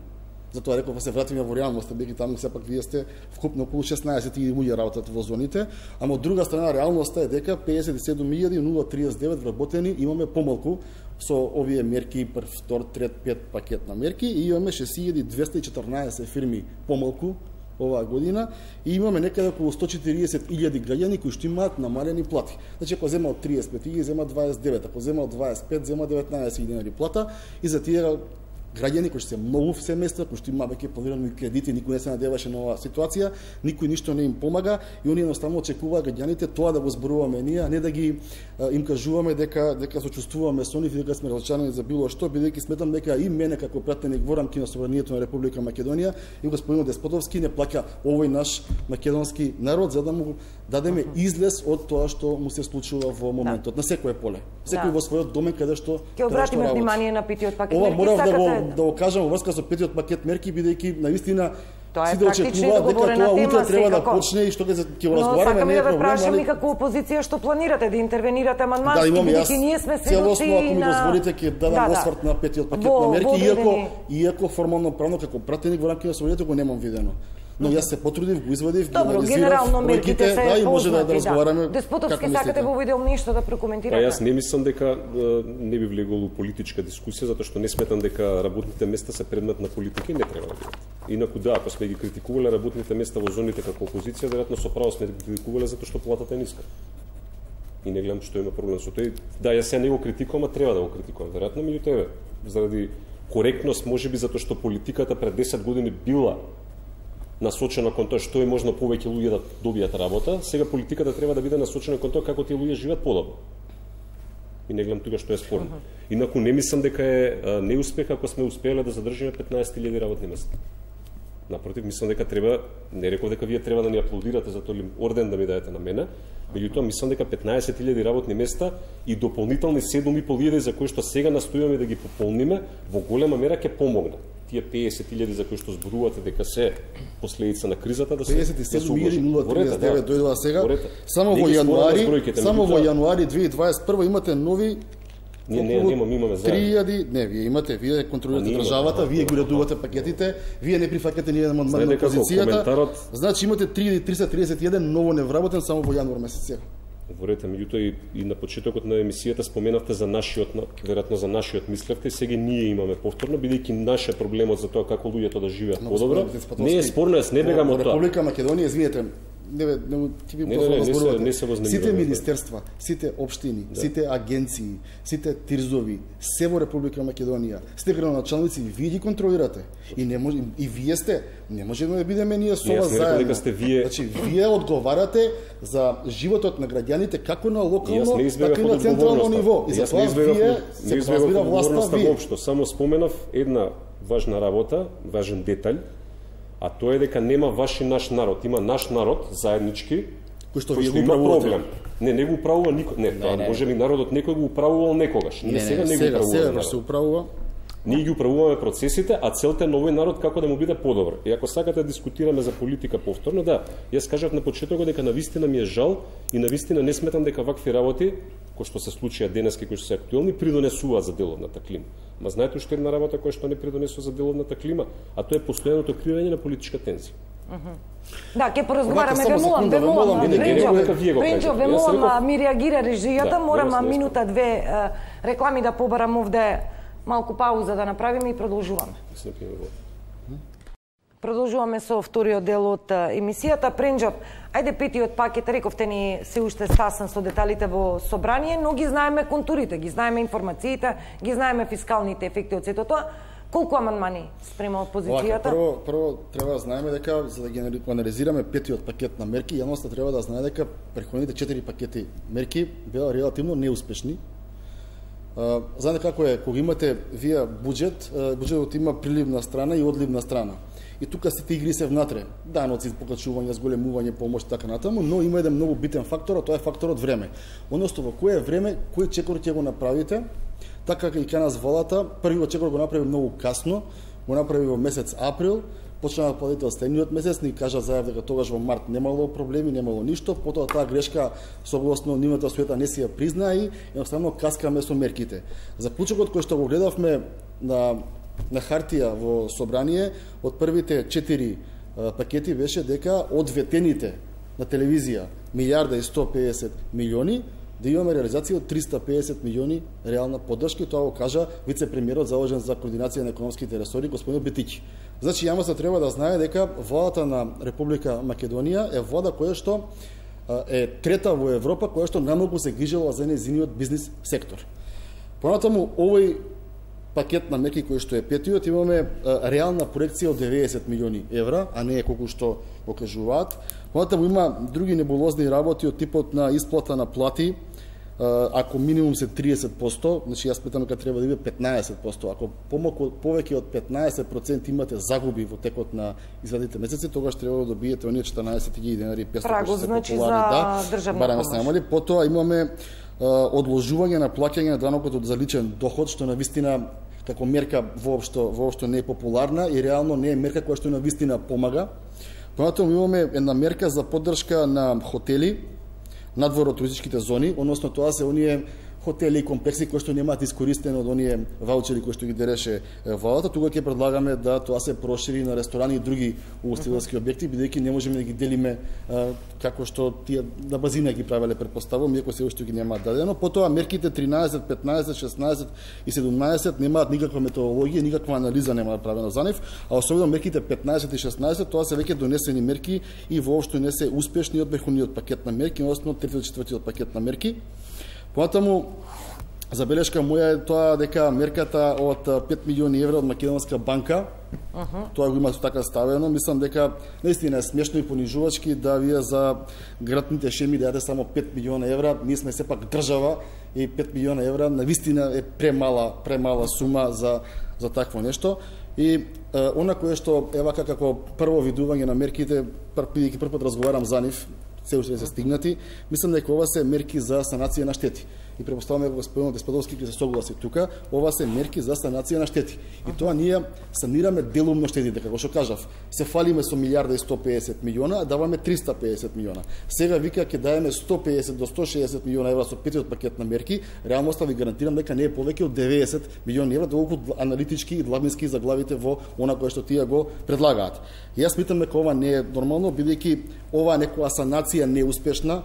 Затоа реков да се вратиме во реалноста, бидејќи таму сепак вие сте вкупно околу 16.000 луѓе работат во зоните, ама од друга страна реалноста е дека 57.039 вработени имаме помалку со овие мерки, прв, втор, трет, пет пакет на мерки и имаме 6.214 фирми помалку оваа година и имаме некаде околу 140.000 граѓани кои што имаат намалени плати. Значи, ако земал 35, ги зема 29, ако земал 25, зема 19 плата и за тие граѓани кои се многу семејства, кои што има веќе планирани кредити, никој не се надеваше на оваа ситуација, никој ништо не им помага и они едноставно очекуваат граѓаните тоа да го зборуваме ние, а не да ги им кажуваме дека сочувствуваме со нив и дека сме разочарани за било што, бидејќи сметам дека и мене како пратеник во рамки на собранието на Република Македонија и господин Деспотовски не плаќа овој наш македонски народ за да му дадеме излез од тоа што му се случува во моментот на секое поле. Секој во својот домен каде што ќе обратиме внимание на петиот пакет мерки. Ова морав да го кажам во врска со петиот пакет мерки, бидејќи навистина тоа е сите очекуваат дека тоа утре треба да почне и што ќе го разговараме, не е проблем. Но сакаме да ве прашам и како опозиција што планирате да интервенирате амандмански, бидејќи ние сме целосно, ако ми на дозволите, ќе дадам осврт на петиот пакет на мерки, иако формално правно како пратеник во рамки на собранието го немам видено. Но јас се потрудив, го извадив, ги анализирав бројките, да, и може да разговараме. Деспотовски, сакате во видео нешто да прокоментирате? Па јас не мислам дека не би влегол у политичка дискусија, затоа што не сметам дека работните места се предмет на политика и не треба да бидат. Инаку да, ако сме ги критикувале работните места во зоните како опозиција, веројатно со право сме ги критикувале затоа што платата е ниска. И не гледам што има проблем со тој. Да, јас се не го критикувам, а треба да го критикувам. Веројатно меѓутоа заради коректност, можеби затоа што политиката пред 10 години била насочена кон тоа што е можно повеќе луѓе да добијат работа, сега политиката треба да биде насочена кон тоа како тие луѓе живеат подобро. И не гледам тука што е спорно. Инаку не мислам дека е неуспех ако сме успеале да задржиме 15.000 работни места. Напротив, мислам дека треба, не реков дека вие треба да ни аплодирате за тој орден да ми дадете на мене, меѓутоа мислам дека 15.000 работни места и дополнителни 7.500 за кои што сега настојуваме да ги пополниме, во голема мера ќе помогнат. Тие 50.000 за кои што зборувате дека се последица на кризата да се 57.039 дојдоа сега. Само во јануари 2021 имате нови. Не, имаме заедно. Вие контролирате државата, вие ги уредувате пакетите, вие не прифаќате ни еден амандман на опозицијата. Значи имате 331 ново невработен само во јануар месец сега. Говорете, меѓутоа и на почетокот на емисијата споменавте за нашиот, веројатно за нашиот мислевте, сега ние имаме повторно, бидејќи наше проблемот за тоа како луѓето да живеат подобро. Не е спорно, јас не бегам од тоа. Република Македонија, извинете, сите министерства, сите општини, сите агенции, сите тирзови, се во Република Македонија, сите градоначалници, вие ги контролирате. И не може, и вие сте, не можеме да бидеме ние со вас заедно. Значи, вие одговарате за животот на граѓаните како на локално, така и на централно ниво. И затоа вие се разбира власта воопшто. Само споменав една важна работа, важен детаљ, а тоа е дека нема ваш и наш народ, има наш народ заеднички кој што има проблем. Не го управува никој. Не, може би народот некој го управувал некогаш. Ние сега не го управуваме. Се управува. Ние ги управуваме процесите, а целта е новој народ како да му биде подобро. И ако сакате да дискутираме за политика повторно, да, јас кажав на почетокот дека навистина ми е жал и навистина не сметам дека вакви работи кои што се случија денески, кои што се актуелни, придонесуваат за деловната клима. Ма знаете уште една работа која што не придонесува за деловната клима, а тоа е постојаното кривење на политичка тензија. Да, ќе поразговараме, ве молам, ми реагира режијата, морам минута две реклами да побарам овде, малку пауза да направиме и продолжуваме. Продолжуваме со вториот дел од емисијата. Пренџов, ајде петиот пакет, рековте ни се уште стасан со деталите во собрание, но ги знаеме контурите, ги знаеме информациите, ги знаеме фискалните ефекти од сето тоа. Колку амандмани спрема опозицијата? Прво треба да знаеме дека за да ги анализираме петиот пакет на мерки, јавноста треба да знае дека претходните 4 пакети мерки беа релативно неуспешни. Знаете како е, кога имате вие буџет, буџетот има приливна страна и одливна страна. И тука сите игри се внатре. Даноци, покачување, зголемување, помош и така натаму, но има еден многу битен фактор, а тоа е факторот време. Односно во кое време, кој чекор ќе го направите, така и кај нас волата, првиот чекор го направи многу касно, го направи во месец април, почна да платите од следниот месец, ни кажа заев дека тогаш во март немало проблеми, немало ништо, потоа таа грешка согласно нивната света не си ја призна и едноставно каскаме со мерките. Заклучокот кој што го гледавме на хартија во собрание од првите 4 пакети беше дека од ветените на телевизија 1.150 милиони да имаме реализација од 350 милиони реална поддршка, тоа го кажа вице-премиерот задолжен за координација на економските ресори господин Бетики. Значи јавноста треба да знае дека владата на Република Македонија е влада која што е трета во Европа која што најмногу се грижела за нејзиниот бизнис сектор. Понатаму овој пакет на мерки кој што е петиот, имаме реална проекција од 90 милиони евра, а не е колку што го кажуваат. Понатаму има други небулозни работи од типот на исплата на плати. Ако минимум се 30%, значи јас питам дека треба да биде 15%. Ако повеќе од 15% имате загуби во текот на изминатите месеци, тогаш треба да добиете оние 14.000 денари 500 Прагот, значи за државна помош. Потоа имаме одложување на плаќање на данокот за личен доход, што навистина како мерка воопшто не е популарна и реално не е мерка која што навистина помага. Понатаму имаме една мерка за поддршка на хотели надвор од туристичките зони, односно тоа се оние хотели и комплекси кои што немаат искористено од оние ваучери кои што ги дереше владата. Тука ќе предлагаме да тоа се прошири на ресторани и други угостителски објекти, бидејќи не можеме да ги делиме како што тие на базина ги правеле, претпоставувам, иако се уште ги немаат дадено. Потоа мерките 13, 15, 16 и 17 немаат никаква методологија, никаква анализа нема направена за нив, а особено мерките 15 и 16 тоа се веќе донесени мерки и воопшто не се успешни од верховниот пакет на мерки, односно третиот и четвртиот пакет на мерки. Понатаму, забелешка моја е тоа дека мерката од 5 милиони евра од Македонска банка, тоа го има така ставено, мислам дека наистина е смешно и понижувачки да вие за градните шеми дадете само 5 милиона евра, ние сме сепак држава и 5 милиона евра навистина е премала сума за такво нешто. И она кое што ева како прво видување на мерките, бидејќи прв пат разговарам за нив, се уште се стигнати, мислам дека ова се мерки за санација на штети. И препоставаме дека господин Деспадовски ќе се согласи тука, ова се мерки за санација на штети. И тоа ние санираме делумно штетите, како што кажав. Се фалиме со милиарда и 150 милиона, а даваме 350 милиона. Сега вика ќе даеме 150 до 160 милиона евра со петиот пакет на мерки, реалноста ви гарантирам дека не е повеќе од 90 милиони евра, доколку аналитички и длабински заглавите во она кое што тие го предлагаат. И јас мислам дека ова не е нормално, бидејќи ова некоја санација неуспешна.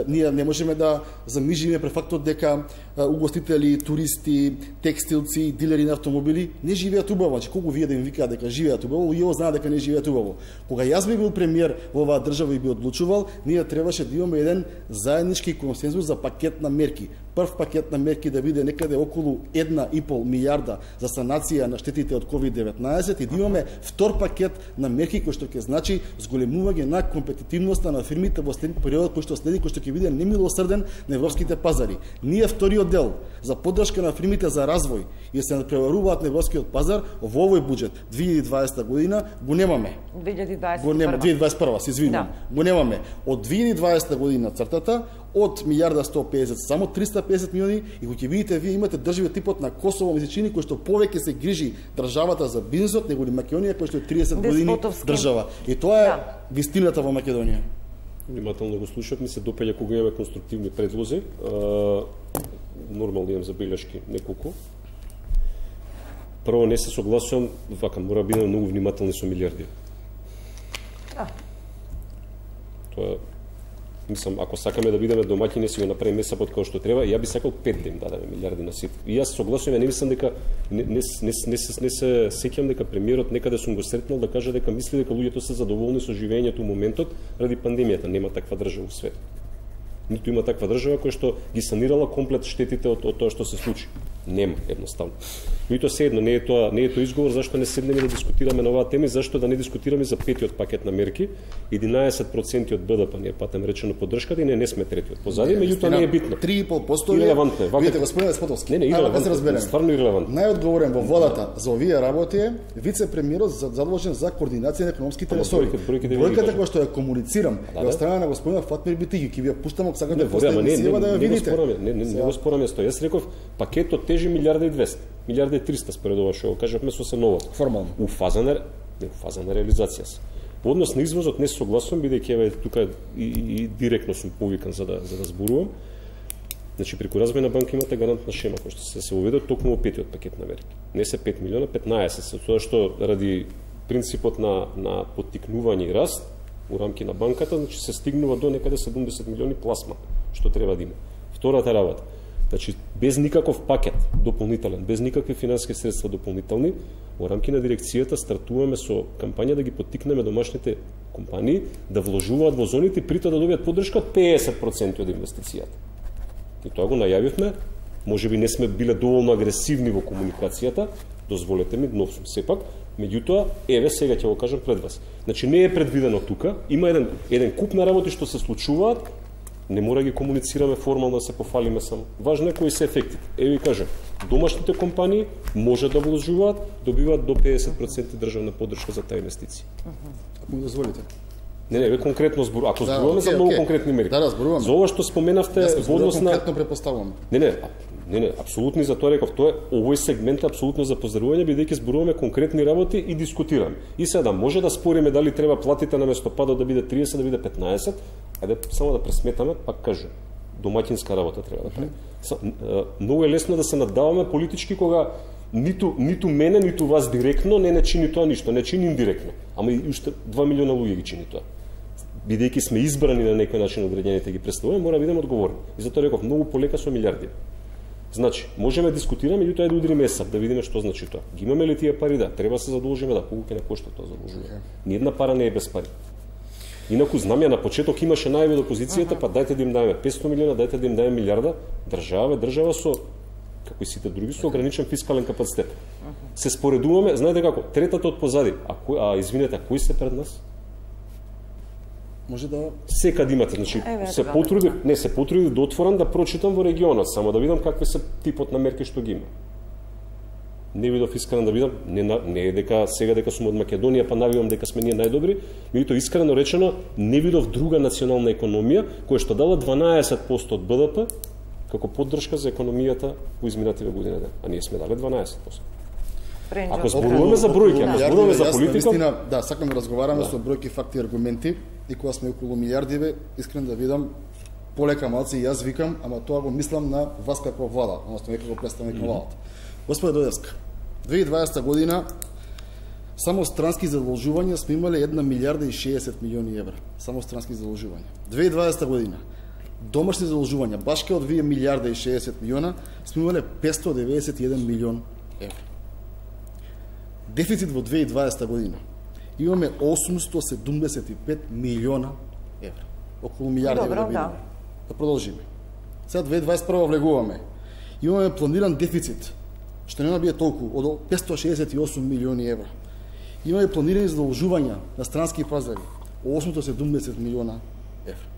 Ние не можеме да замижиме пред фактот дека угостители, туристи, текстилци, дилери на автомобили не живеат убаво. Значи, колку вие да им викаат дека живеат убаво, и знаат дека не живеат убаво. Кога јас би бил премиер во оваа држава и би одлучувал, ние требаше да имаме еден заеднички консензус за пакет на мерки. Прв пакет на мерки да биде некаде околу 1,5 милиарда за санација на штетите од COVID-19 и да имаме втор пакет на мерки кој што ќе значи зголемување на компетитивноста на фирмите во периодот кој што следи, кој што ќе биде немилосрден на европските пазари. Ние вториот дел за поддршка на фирмите за развој и се преваруваат на европскиот пазар во овој буџет 2020 година го немаме. 2021 се извинувам. Го немаме. Од 2020 година цртата од милиарда 150 само 350 милиони и кога ќе видите вие имате држави типот на Косово, Месечини кој што повеќе се грижи државата за бизнисот него ли Македонија кој што е 30 години држава. И тоа е вистината во Македонија. Внимателно го слушав, ми се допаѓа кога имаме конструктивни предлози. Нормално имам забелешки неколку. Прво не се согласувам, вака мора да бидеме многу внимателни со милиарди. Тоа мислам, ако сакаме да бидеме домаќини, си го направиме месапот како што треба, ја би сакал 5 да им дадеме милиарди на сите. И јас согласувам, не мислам дека не се сеќам дека премиерот некаде сум го сретнал да каже дека мисли дека луѓето се задоволни со живењето во моментот ради пандемијата. Нема таква држава во свет. Ниту има таква држава која што ги санирала комплет штетите од тоа што се случи. Нема, едноставно. Но и тоа се едно, не е тоа изговор зашто не седнеме да дискутираме на оваа тема и зашто да не дискутираме за петиот пакет на мерки. 11% од БДП не е патем речено поддршката и не сме третиот. Позади, меѓутоа не е битно. 3,5% ирелевантно е. Видите, господин Деспотовски. Не, ирелевантно. Стварно ирелевантно. Најодговорен во владата за овие работи е вице-премиерот задолжен за координација на економските ресори. Бројката која што ја комуницирам ја страна на господинот Фатмир Битиги, ќе ви ја пуштам ако сакате после емисија да ја видите. Не го спораме со. Јас реков пакетот тежи милиарда и 200, милиарда и 300 според ова што го кажавме со се ново. Формално. У фаза на реализација се. Во однос на извозот не согласувам, бидејќи еве тука и директно сум повикан за да зборувам. Значи преку Развојна банка имате гарантна шема која што се воведе токму во петиот пакет на мерки. Не се 5 милиона, 15 се, тоа што ради принципот на поттикнување и раст у рамки на банката, значи се стигнува до некаде 70 милиони пласма што треба да има. Втората работа, значи без никаков пакет дополнителен, без никакви финансиски средства дополнителни, во рамки на дирекцијата стартуваме со кампања да ги поттикнеме домашните компании да вложуваат во зоните, при тоа да добијат поддршка од 50% од инвестицијата. И тоа го најавивме Можеби не сме биле доволно агресивни во комуникацијата, дозволете ми, нов сум сепак, меѓутоа, еве сега ќе го кажам пред вас. Значи не е предвидено тука, има еден куп на работи што се случуваат, не мора ги комуницираме формално да се пофалиме само. Важно е кои се ефектите. Еве ви кажам, домашните компании може да вложуваат, добиваат до 50% државна поддршка за таа инвестиција. Ако ми дозволите. Не, ве конкретно зборуваме. Ако зборуваме за многу конкретни мерки. Да, зборуваме. За ова што споменавте во однос на конкретно препоставувам. Не, апсолутно за тоа реков, овој сегмент е апсолутно за поздравување, бидејќи зборуваме конкретни работи и дискутираме. И сега може да спориме дали треба платите на местопадот да биде 30, да биде 15, ајде само да пресметаме, пак кажем, домаќинска работа треба да прави. Многу е лесно да се наддаваме политички кога ниту мене, ниту вас директно не чини тоа ништо, не чини индиректно. Ама и уште 2 милиона луѓе ги чини тоа. Бидејќи сме избрани на некој начин одредените ги представуваме, мора да бидеме одговорни. И затоа реков многу полека со милиарди. Значи, можеме да дискутираме, меѓутоа да удриме сап, да видиме што значи тоа. Ги имаме ли тие пари, да, треба се задолжиме, да, колку ќе не кошта тоа задолжување. Ни една пара не е без пари. Инаку знам ја на почеток имаше најави од опозицијата, па дајте да им даеме 500 милиона, дајте да им даеме милиарда, држава со како и сите други со ограничен фискален капацитет. Се споредуваме, знаете како, третата од позади, извинете, кои се пред нас? Може да секад имате, значи се потруди да отворам да прочитам во регионот, само да видам какви се типот на мерки што ги има. Не видов искрено да видам, не е дека сега дека сум од Македонија па навивам дека сме ние најдобри, меѓутоа искрено речено не видов друга национална економија која што дала 12% од БДП како поддршка за економијата во изминативе години, а ние сме дали 12%. Ако зборуваме за бројки, ако зборуваме за политика, да, сакам да разговараме со бројки, факти и аргументи, и кога сме околу милиардиве, искрено да видам полека малци и јас викам, ама тоа го мислам на вас како влада, односно веќе го представник на владата. Господе Дојевска, 2020 година само странски задолжувања сме имале 1 милиарда и 60 милиони евра. Само странски задолжувања. 2020 година домашни задолжувања, баш кај од 2 милиарда и 60 милиона, сме имале 591 милион евра. Дефицит во 2020 година имаме 875 милиона евра. Околу милиарди евра. Да продолжиме. Сега 2021 влегуваме. Имаме планиран дефицит, што нема биде толку, од 568 милиони евра. Имаме планирани задолжувања на странски пазари, 870 милиона евра.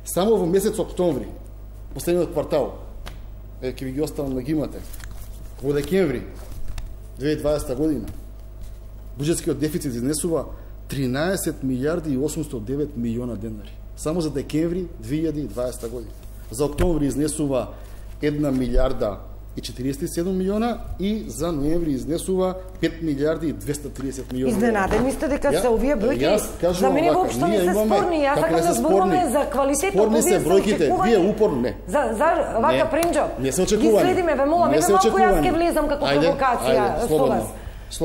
Само во месец октомври, последниот квартал, ќе ви ги оставам да ги имате, во декември 2020 година, буџетскиот дефицит изнесува 13 милиарди и 809 милиона денари. Само за декември 2020 година. За октомври изнесува 1 милиарда и 47 милиона и за ноември изнесува 5 милиарди и 230 милиона. Изненадени сте дека се овие бројки за мене воопшто не се спорни. Јас сакам да зборуваме за квалитетот. Спорни се бројките, вие упорно не. За вака Пренџо. Не се очекувани. Ги следиме, ве молам, нека малку јас ќе влезам како провокација со вас.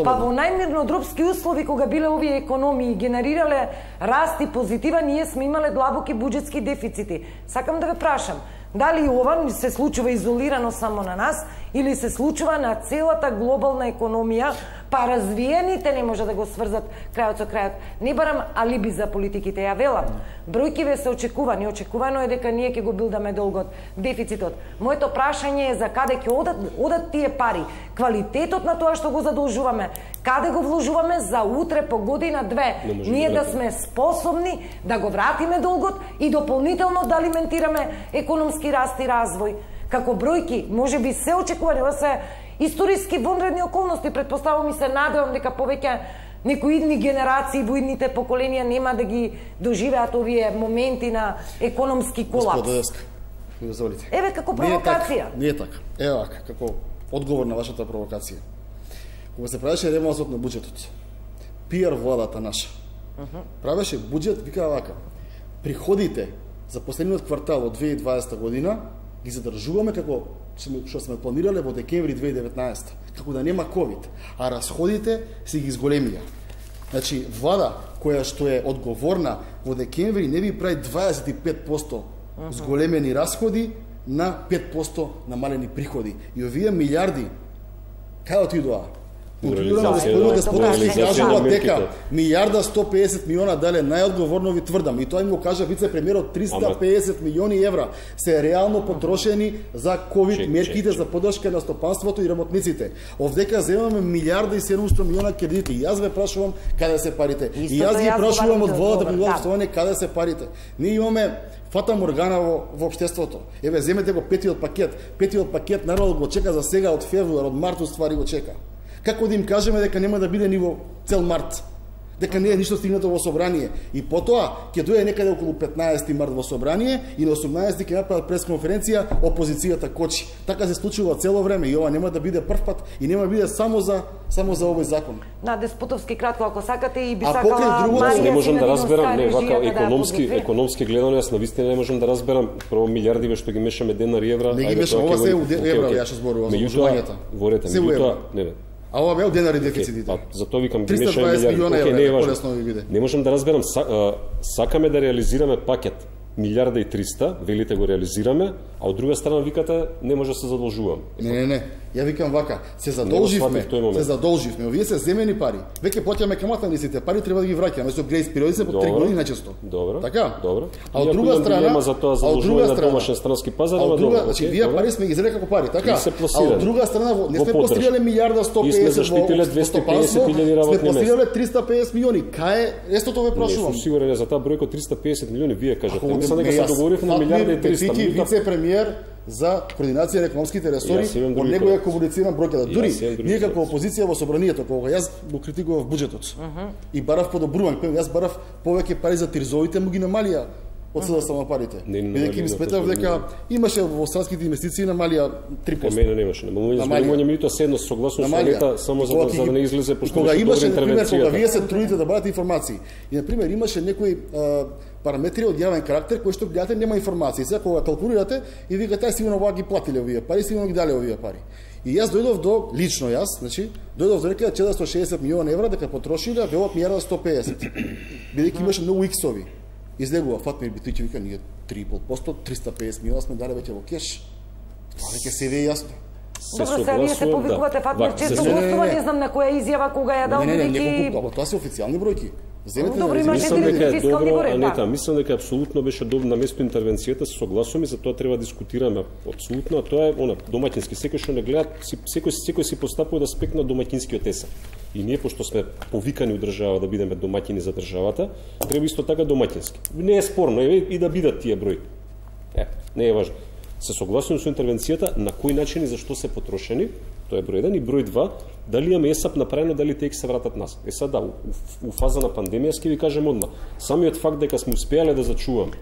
Па во најмирнодропски услови, кога биле овие економии генерирале раст и позитива, ние сме имале длабоки буџетски дефицити. Сакам да ве прашам, дали ова се случува изолирано само на нас или се случува на целата глобална економија, па развиените не може да го сврзат крајот со крајот. Не барам алиби за политиките, ја велам. Бројкиве се очекувани, очекувано е дека ние ќе го билдаме долгот, дефицитот. Моето прашање е за каде ќе одат тие пари, квалитетот на тоа што го задолжуваме, каде го вложуваме за утре по година две, ние да сме способни да го вратиме долгот и дополнително да алиментираме економски раст и развој. Како бројки, може би се очекувани, ова се историски вонредни околности, предпоставувам и се надевам дека повеќе некои идни генерации во идните поколенија нема да ги доживеат овие моменти на економски колапс. Господи, дозволите. Еве како провокација. Не е така. Еве вака, како одговор на вашата провокација. Кога се правеше ремонтот на буџетот, PR владата наша правеше буџет, викаа вака: приходите за последниот квартал од 2020 година ги задржуваме како што сме планирале во декември 2019, како да нема ковид, а расходите се ги зголемија. Значи, влада која што е одговорна во декември не би прави 25% зголемени расходи на 5% намалени приходи. И овие милиарди кај отидоа? кажува дека милиарда 150 милиона дале најодговорно ви тврдам и тоа им го кажа вице-премиерот, 350 милиони евра се реално потрошени за ковид мерките за поддршка на стопанството и работниците. Овдека земаме милиарда и 700 милиона кредити. И јас ве прашувам каде се парите. И јас ги прашувам од водата при обстојане каде се парите. Ние имаме фата моргана во општеството. Еве земете го петиот пакет народот го чека за сега од февруар, од март ствари го чека. Како да им кажеме дека нема да биде ни во цел март? Дека не е ништо стигнато во собрание. И потоа ќе дојде некаде околу 15 март во собрание и на 18 ќе направат пресконференција, опозицијата кочи. Така се случува цело време и ова нема да биде прв пат и нема да биде само за овој закон. На Деспотовски кратко ако сакате и би сакала Марија. Не можам да разберам, не вака економски гледано, јас навистина не можам да разберам прво милиардиве што ги мешаме денари евра. Не ги мешаме, ова се евра, ја што зборувам за уживањето. Ворете, меѓутоа, не. А ова беа денари дефицитите. Затоа викам ги мешаме милиарди. Не е важно. Не можам да разберам, сакаме да реализираме пакет милиарда и 300, велите го реализираме, а од друга страна викате не може да се задолжуваме. Не. Ја викам вака, се задолживме, овие се земени пари. Веќе плаќаме камата на сите пари, треба да ги враќаме со грејс периоди по 3 години најчесто. Добро. Така? Добро. А од друга страна, за тоа задолжување на домашен странски пазар, значи вие пари сме ги зели како пари, така? А од друга страна не сме постигнале милиарда 150 и сме заштитиле 250.000 работни места. Сме постигнале 350 милиони. Кај е естото ве прашувам? Не сум сигурен за таа бројка 350 милиони, вие кажете. Мислам дека се договоривме на милиарда и 300. Вице-премиер за координација на економските ресори, од него ја комуницирам бројката. Дури ние како опозиција во собранието, кога јас го критикував буџетот и барав подобрување, јас барав повеќе пари за тирзовите, му ги намалија од СДСМ парите. Бидејќи ми сметав дека имаше во странските инвестиции намалија 3%. Мене немаше. Намалување милито седно согласно со лета само за да не излезе пошто кога имаше например кога вие се трудите да барате информации. И например имаше некои параметри од јавен карактер кои што гледате нема информации. Сега кога калкулирате и викате ај сигурно ова ги платиле овие пари, сигурно ги дале овие пари. И јас дојдов до лично значи дојдов до некаде 460 милиона евра дека потрошиле, велат милиарда 150. Бидејќи имаше многу иксови. Излегува Фатмир Битојќи вика ние 3,5%, 350 милиона сме дале веќе во кеш. Тоа веќе се е јасно. Добро, сега вие се повикувате Фатмир често гостува, не знам на која изјава кога ја дал бидејќи тоа се официјални бројки. Мислам дека е добро, Анета, мислам дека апсолутно беше добро на место интервенцијата, се согласувам и за тоа треба да дискутираме апсолутно, а тоа е домаќински, секој што не гледа, секој си постапува да спекна домаќинскиот есен. И ние пошто сме повикани од држава да бидеме домаќини за државата, треба исто така домаќински. Не е спорно и да бидат тие бројки. Не е важно. Се согласувам со интервенцијата на кој начин и зашто се потрошени, тоа е број 1 и број 2, дали имаме ЕСАП направено, дали тие се вратат нас. Сега у фаза на пандемија ќе ви кажем одма. Самиот факт дека сме успеале да зачуваме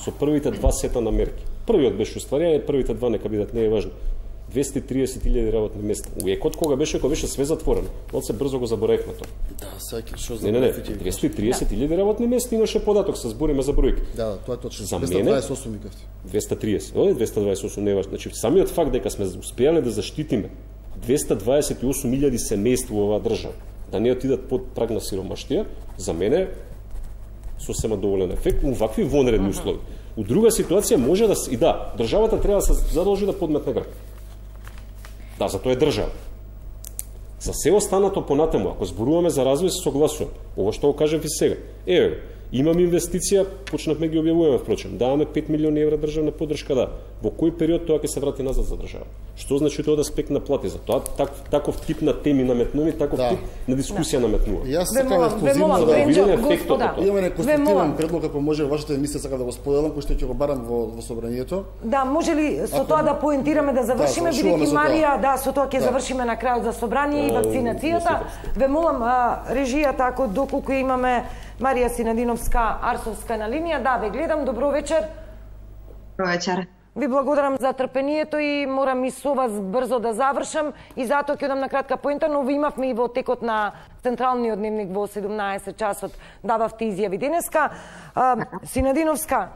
со првите 2 сета на мерки. Првиот беше устварјање, првите 2 нека бидат, не е важно. 230.000 работни места. У екот кога беше све затворено. Од се брзо го заборавме тоа. Да, сеќа што за 230.000 работни места имаше податок, се збориме за бројки. Да, тоа е точно. За мене 228 викавте. 230. 228 не е важно. Значи самиот факт дека сме успеале да заштитиме 228.000 семејства во оваа држава, да не отидат под праг на сиромаштија, за мене сосема доволен ефект у вакви вонредни услови. У друга ситуација може да и да, државата треба да се задолжи да подметне град. Да, за тоа е држава. За се останато понатаму, ако зборуваме за развој, се согласувам. Ова што го кажав и сега. Имаме инвестиција, почнавме ги објавуваме впрочем. Даваме 5 милиони евра државна поддршка, да. Во кој период тоа ќе се врати назад за држава? Што значи тоа да спекна плати? За тоа таков тип на теми наметнуви, таков тип на дискусија наметнува. Јас сакам ексклузивно да видиме ефектот. Имаме конструктивен предлог, ако може вашата емисија сака да го споделам, кој што ќе го барам во собранието. Да, може ли со тоа да поентираме да завршиме, бидејќи Марија, да, со тоа ќе завршиме на крајот за собрание и вакцинацијата. Ве молам режијата, ако доколку имаме Марија Синадиновска Арсовска на линија, да, ве гледам, добро вечер. Добро вечер. Ви благодарам за трпението и морам и со вас брзо да завршам и затоа ќе одам на кратка поента, но ви имавме и во текот на централниот дневник во 17 часот дававте изјави денеска. Синадиновска,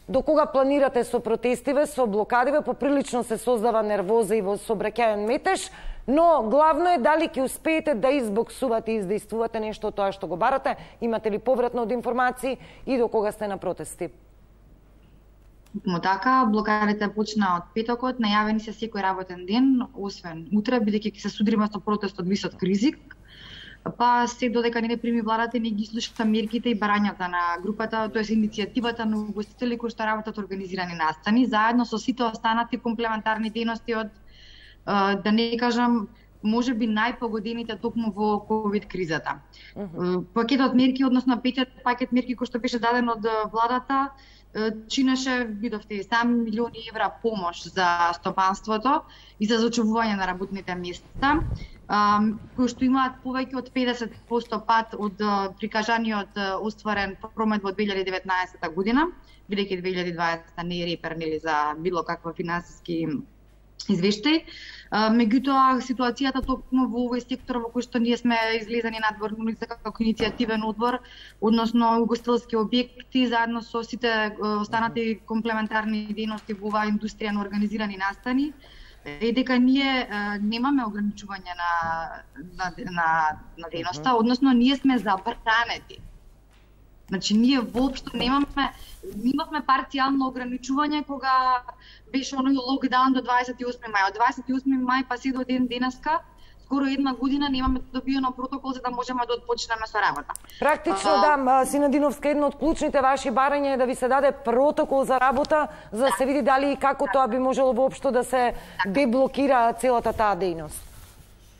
до кога планирате со протестиве, со блокадиве, поприлично се создава нервоза и во сообраќајен метеж, но главно е дали ќе успеете да избоксувате и издействувате нешто од тоа што го барате, имате ли повратно од информации и до кога сте на протести? Му така, блокадите почна од петокот, најавени се секој работен ден, освен утре, бидејќи ќе се судриме со протест од висок ризик. Па се додека не прими владата, не ги слуша мерките и барањата на групата, тоест иницијативата на угостители кои што работат организирани настани, заедно со сите останати комплементарни дејности од, да не кажам, може би најпогодените токму во ковид кризата. Пакетот мерки, односно петиот пакет мерки кој што беше даден од владата, чинеше, видовте и сам, милиони евра помош за стопанството и за зачувување на работните места, кои што имаат повеќе од 50% пат од прикажаниот остварен промет во 2019 година, бидејќи 2020 не е репер нели за било каква финансиски извештај. Меѓутоа, ситуацијата токму во овој сектор во кој што ние сме излезени надвор како иницијативен одбор, односно угостителски објекти, заедно со сите останати комплементарни дејности во оваа индустрија на организирани настани, е дека ние немаме ограничување на дејноста, односно ние сме забранети. Значи, ние воопшто имавме парцијално ограничување кога беше оној локдаун до 28 мај. Од 28 мај па се до денеска, скоро една година немаме добиено протокол за да можеме да отпочнеме со работа. Практично, да, Синадиновска, едно од клучните ваши барања е да ви се даде протокол за работа, за да се види дали и како тоа би можело воопшто да се деблокира целата таа дејност.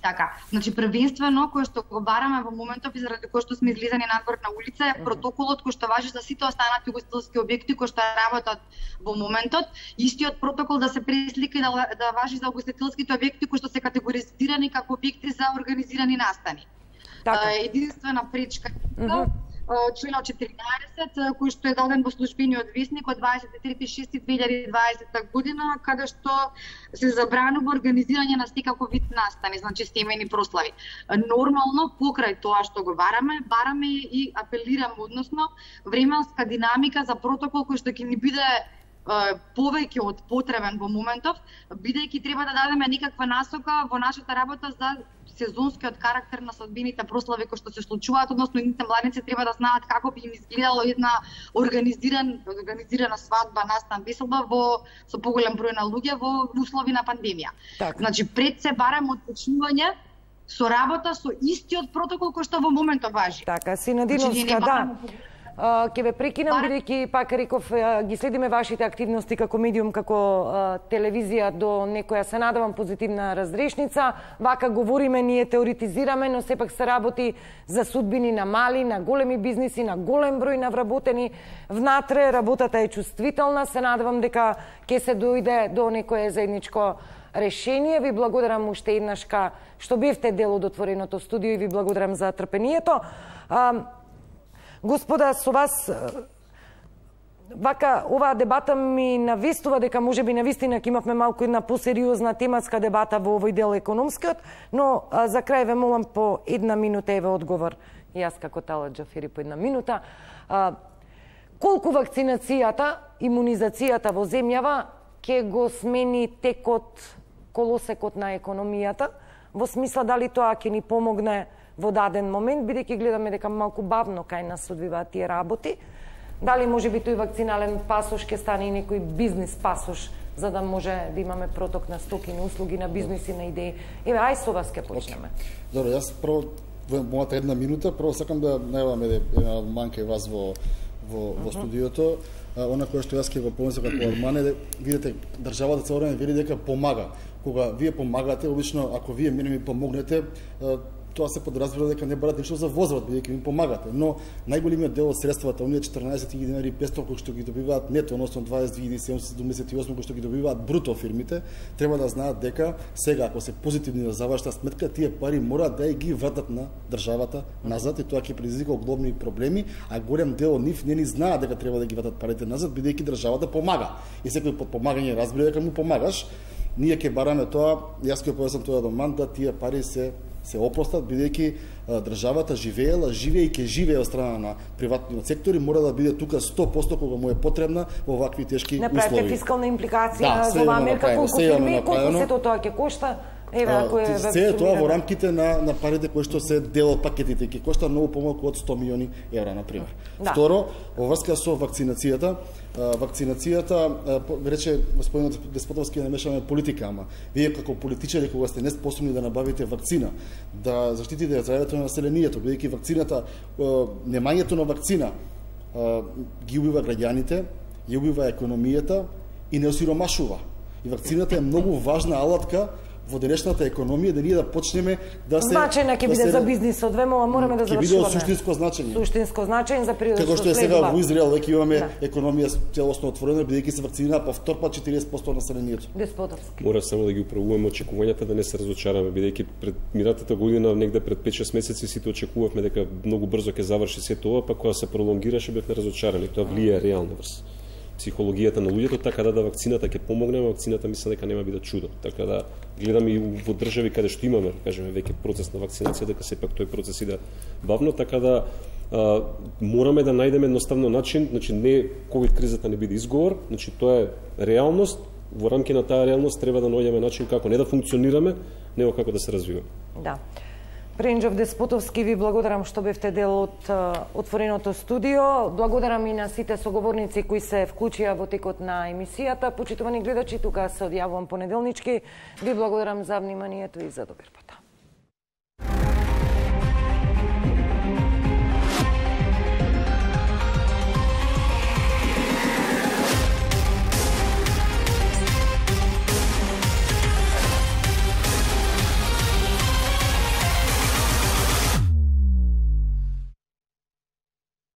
Така, значи првенствено кој што го бараме во моментов и заради кој што сме излезени надвор на улица е протоколот кој што важи за сите останати угостителски објекти кои што работат во моментот, истиот протокол да се преслика и да важи за угостителските објекти кои што се категоризирани како објекти за организирани настани. Така. Единствена пречка членот 14 кој што е даден во службениот весник од 23.6.2020 година, каде што се забранува организирање на секаков вид настани, значи семејни прослави. Нормално покрај тоа што го бараме и апелираме, односно временска динамика за протокол кој што ќе ни биде повеќе од потребен во моментов, бидејќи треба да дадеме некаква насока во нашата работа за сезонскиот карактер на свадбените прослави кои што се случуваат, односно едните младенци треба да знаат како би им изгледало една организирана свадба, настан, веселба со поголем број на луѓе во услови на пандемија. Так. Значи пред се бараме отпочнување со работа со истиот протокол кој што во моментот важи. Така, Синадиновска, да. Ќе ве прекинам, бидејќи пак реков, ги следиме вашите активности како медиум, како телевизија до некоја, се надевам, позитивна разрешница. Вака говориме, ние теоретизираме, но сепак се работи за судбини на мали, на големи бизниси, на голем број на вработени внатре. Работата е чувствителна, се надевам дека ќе се дојде до некое заедничко решение. Ви благодарам уште еднашка што бевте дел од отвореното студио и ви благодарам за трпението. Господа, со вас, вака, оваа дебата ми навестува дека можеби навистина ќе имавме малку една посериозна тематска дебата во овој дел економскиот, но за крај ве молам по една минута, еве одговор, јас како Талат Џафери по една минута. Колку вакцинацијата, имунизацијата во земјава ќе го смени текот, колосекот на економијата, во смисла дали тоа ќе ни помогне во даден момент, бидејќи гледаме дека малку бавно кај нас одвиваат тие работи. Дали може би тој вакцинален пасош ќе стане и некој бизнис пасош, за да може да имаме проток на стоки, на услуги, на бизниси, на идеи. Еве, ај со вас ќе почнеме. Добро, јас прво во мојата една минута, прво сакам да најавам една манка и вас во студиото. Она која што јас ќе го помислам како Армане, видите, државата цело време вели дека помага. Кога вие помагате, обично ако вие мене ми помогнете, тоа се подразбира дека не барате ништо за возврат, бидејќи ми помагате, но најголемиот дел од средствата, оние 14.500 динари 500 кои што ги добиваат нето, односно 22.778 кои што ги добиваат бруто фирмите, треба да знаат дека сега ако се позитивни на завршна сметка, тие пари мораат да ги вратат на државата назад и тоа ќе предизвика огромни проблеми, а голем дел од нив не ни знаат дека треба да ги вратат парите назад, бидејќи државата помага. И секој подпомагање разбира дека му помагаш. Ние ќе бараме тоа, јас ќе појаснам тоа до ман, да тие пари се опростат, бидејќи државата живее и ќе живее од страна на приватниот сектор и мора да биде тука 100% кога му е потребна во вакви тешки услови. Направете фискална импликација за оваа мерка, колку фирми, колку сето тоа ќе кошта? Се е тоа во рамките на парите кои што се дел од пакетите, ќе кошта многу помалку од 100 милиони евра на пример. Второ, во врска со вакцинацијата, рече господинот Деспотовски, да не мешаме политика, ама вие како политичари кога сте неспособни да набавите вакцина, да заштитите здравјето на населението, бидејќи вакцината, немањето на вакцина ги убива граѓаните, ги убива економијата и не осиромашува. И вакцината е многу важна алатка во денешната економија, да ние да почнеме да се... Значајна ќе биде за бизнисот, мораме да завршуваме. Ќе биде од суштинско значење. Суштинско значење за периодот што следува. Како што е сега во Израел, веќе имаме економија целосно отворена, бидејќи се вакцинира по втор пат 40% населението. Деспотовски. Мора само да ги управуваме очекувањата, да не се разочараме, бидејќи пред минатата година, негде пред 5-6 месеци, сите очекувавме дека многу брзо ќе заврши се тоа, па кога се пролонгираше бевме разочарани. Тоа влијае реално врз психологијата на луѓето, така да вакцината ќе помогне, вакцината мислам дека нема биде чудо. Така да гледам и во држави каде што имаме, кажеме, веќе процес на вакцинација, дека сепак тој процес иде бавно, така да мораме да најдеме едноставно начин, значи не ковид кризата не биде изговор, значи тоа е реалност, во рамки на таа реалност треба да најдеме начин како не да функционираме, него како да се развиваме. Да. Пренџов Деспотовски, ви благодарам што бевте дел од отвореното студио. Благодарам и на сите соговорници кои се вклучија во текот на емисијата. Почитувани гледачи, тука се одјавувам понеделнички. Ви благодарам за вниманието и за добар пат.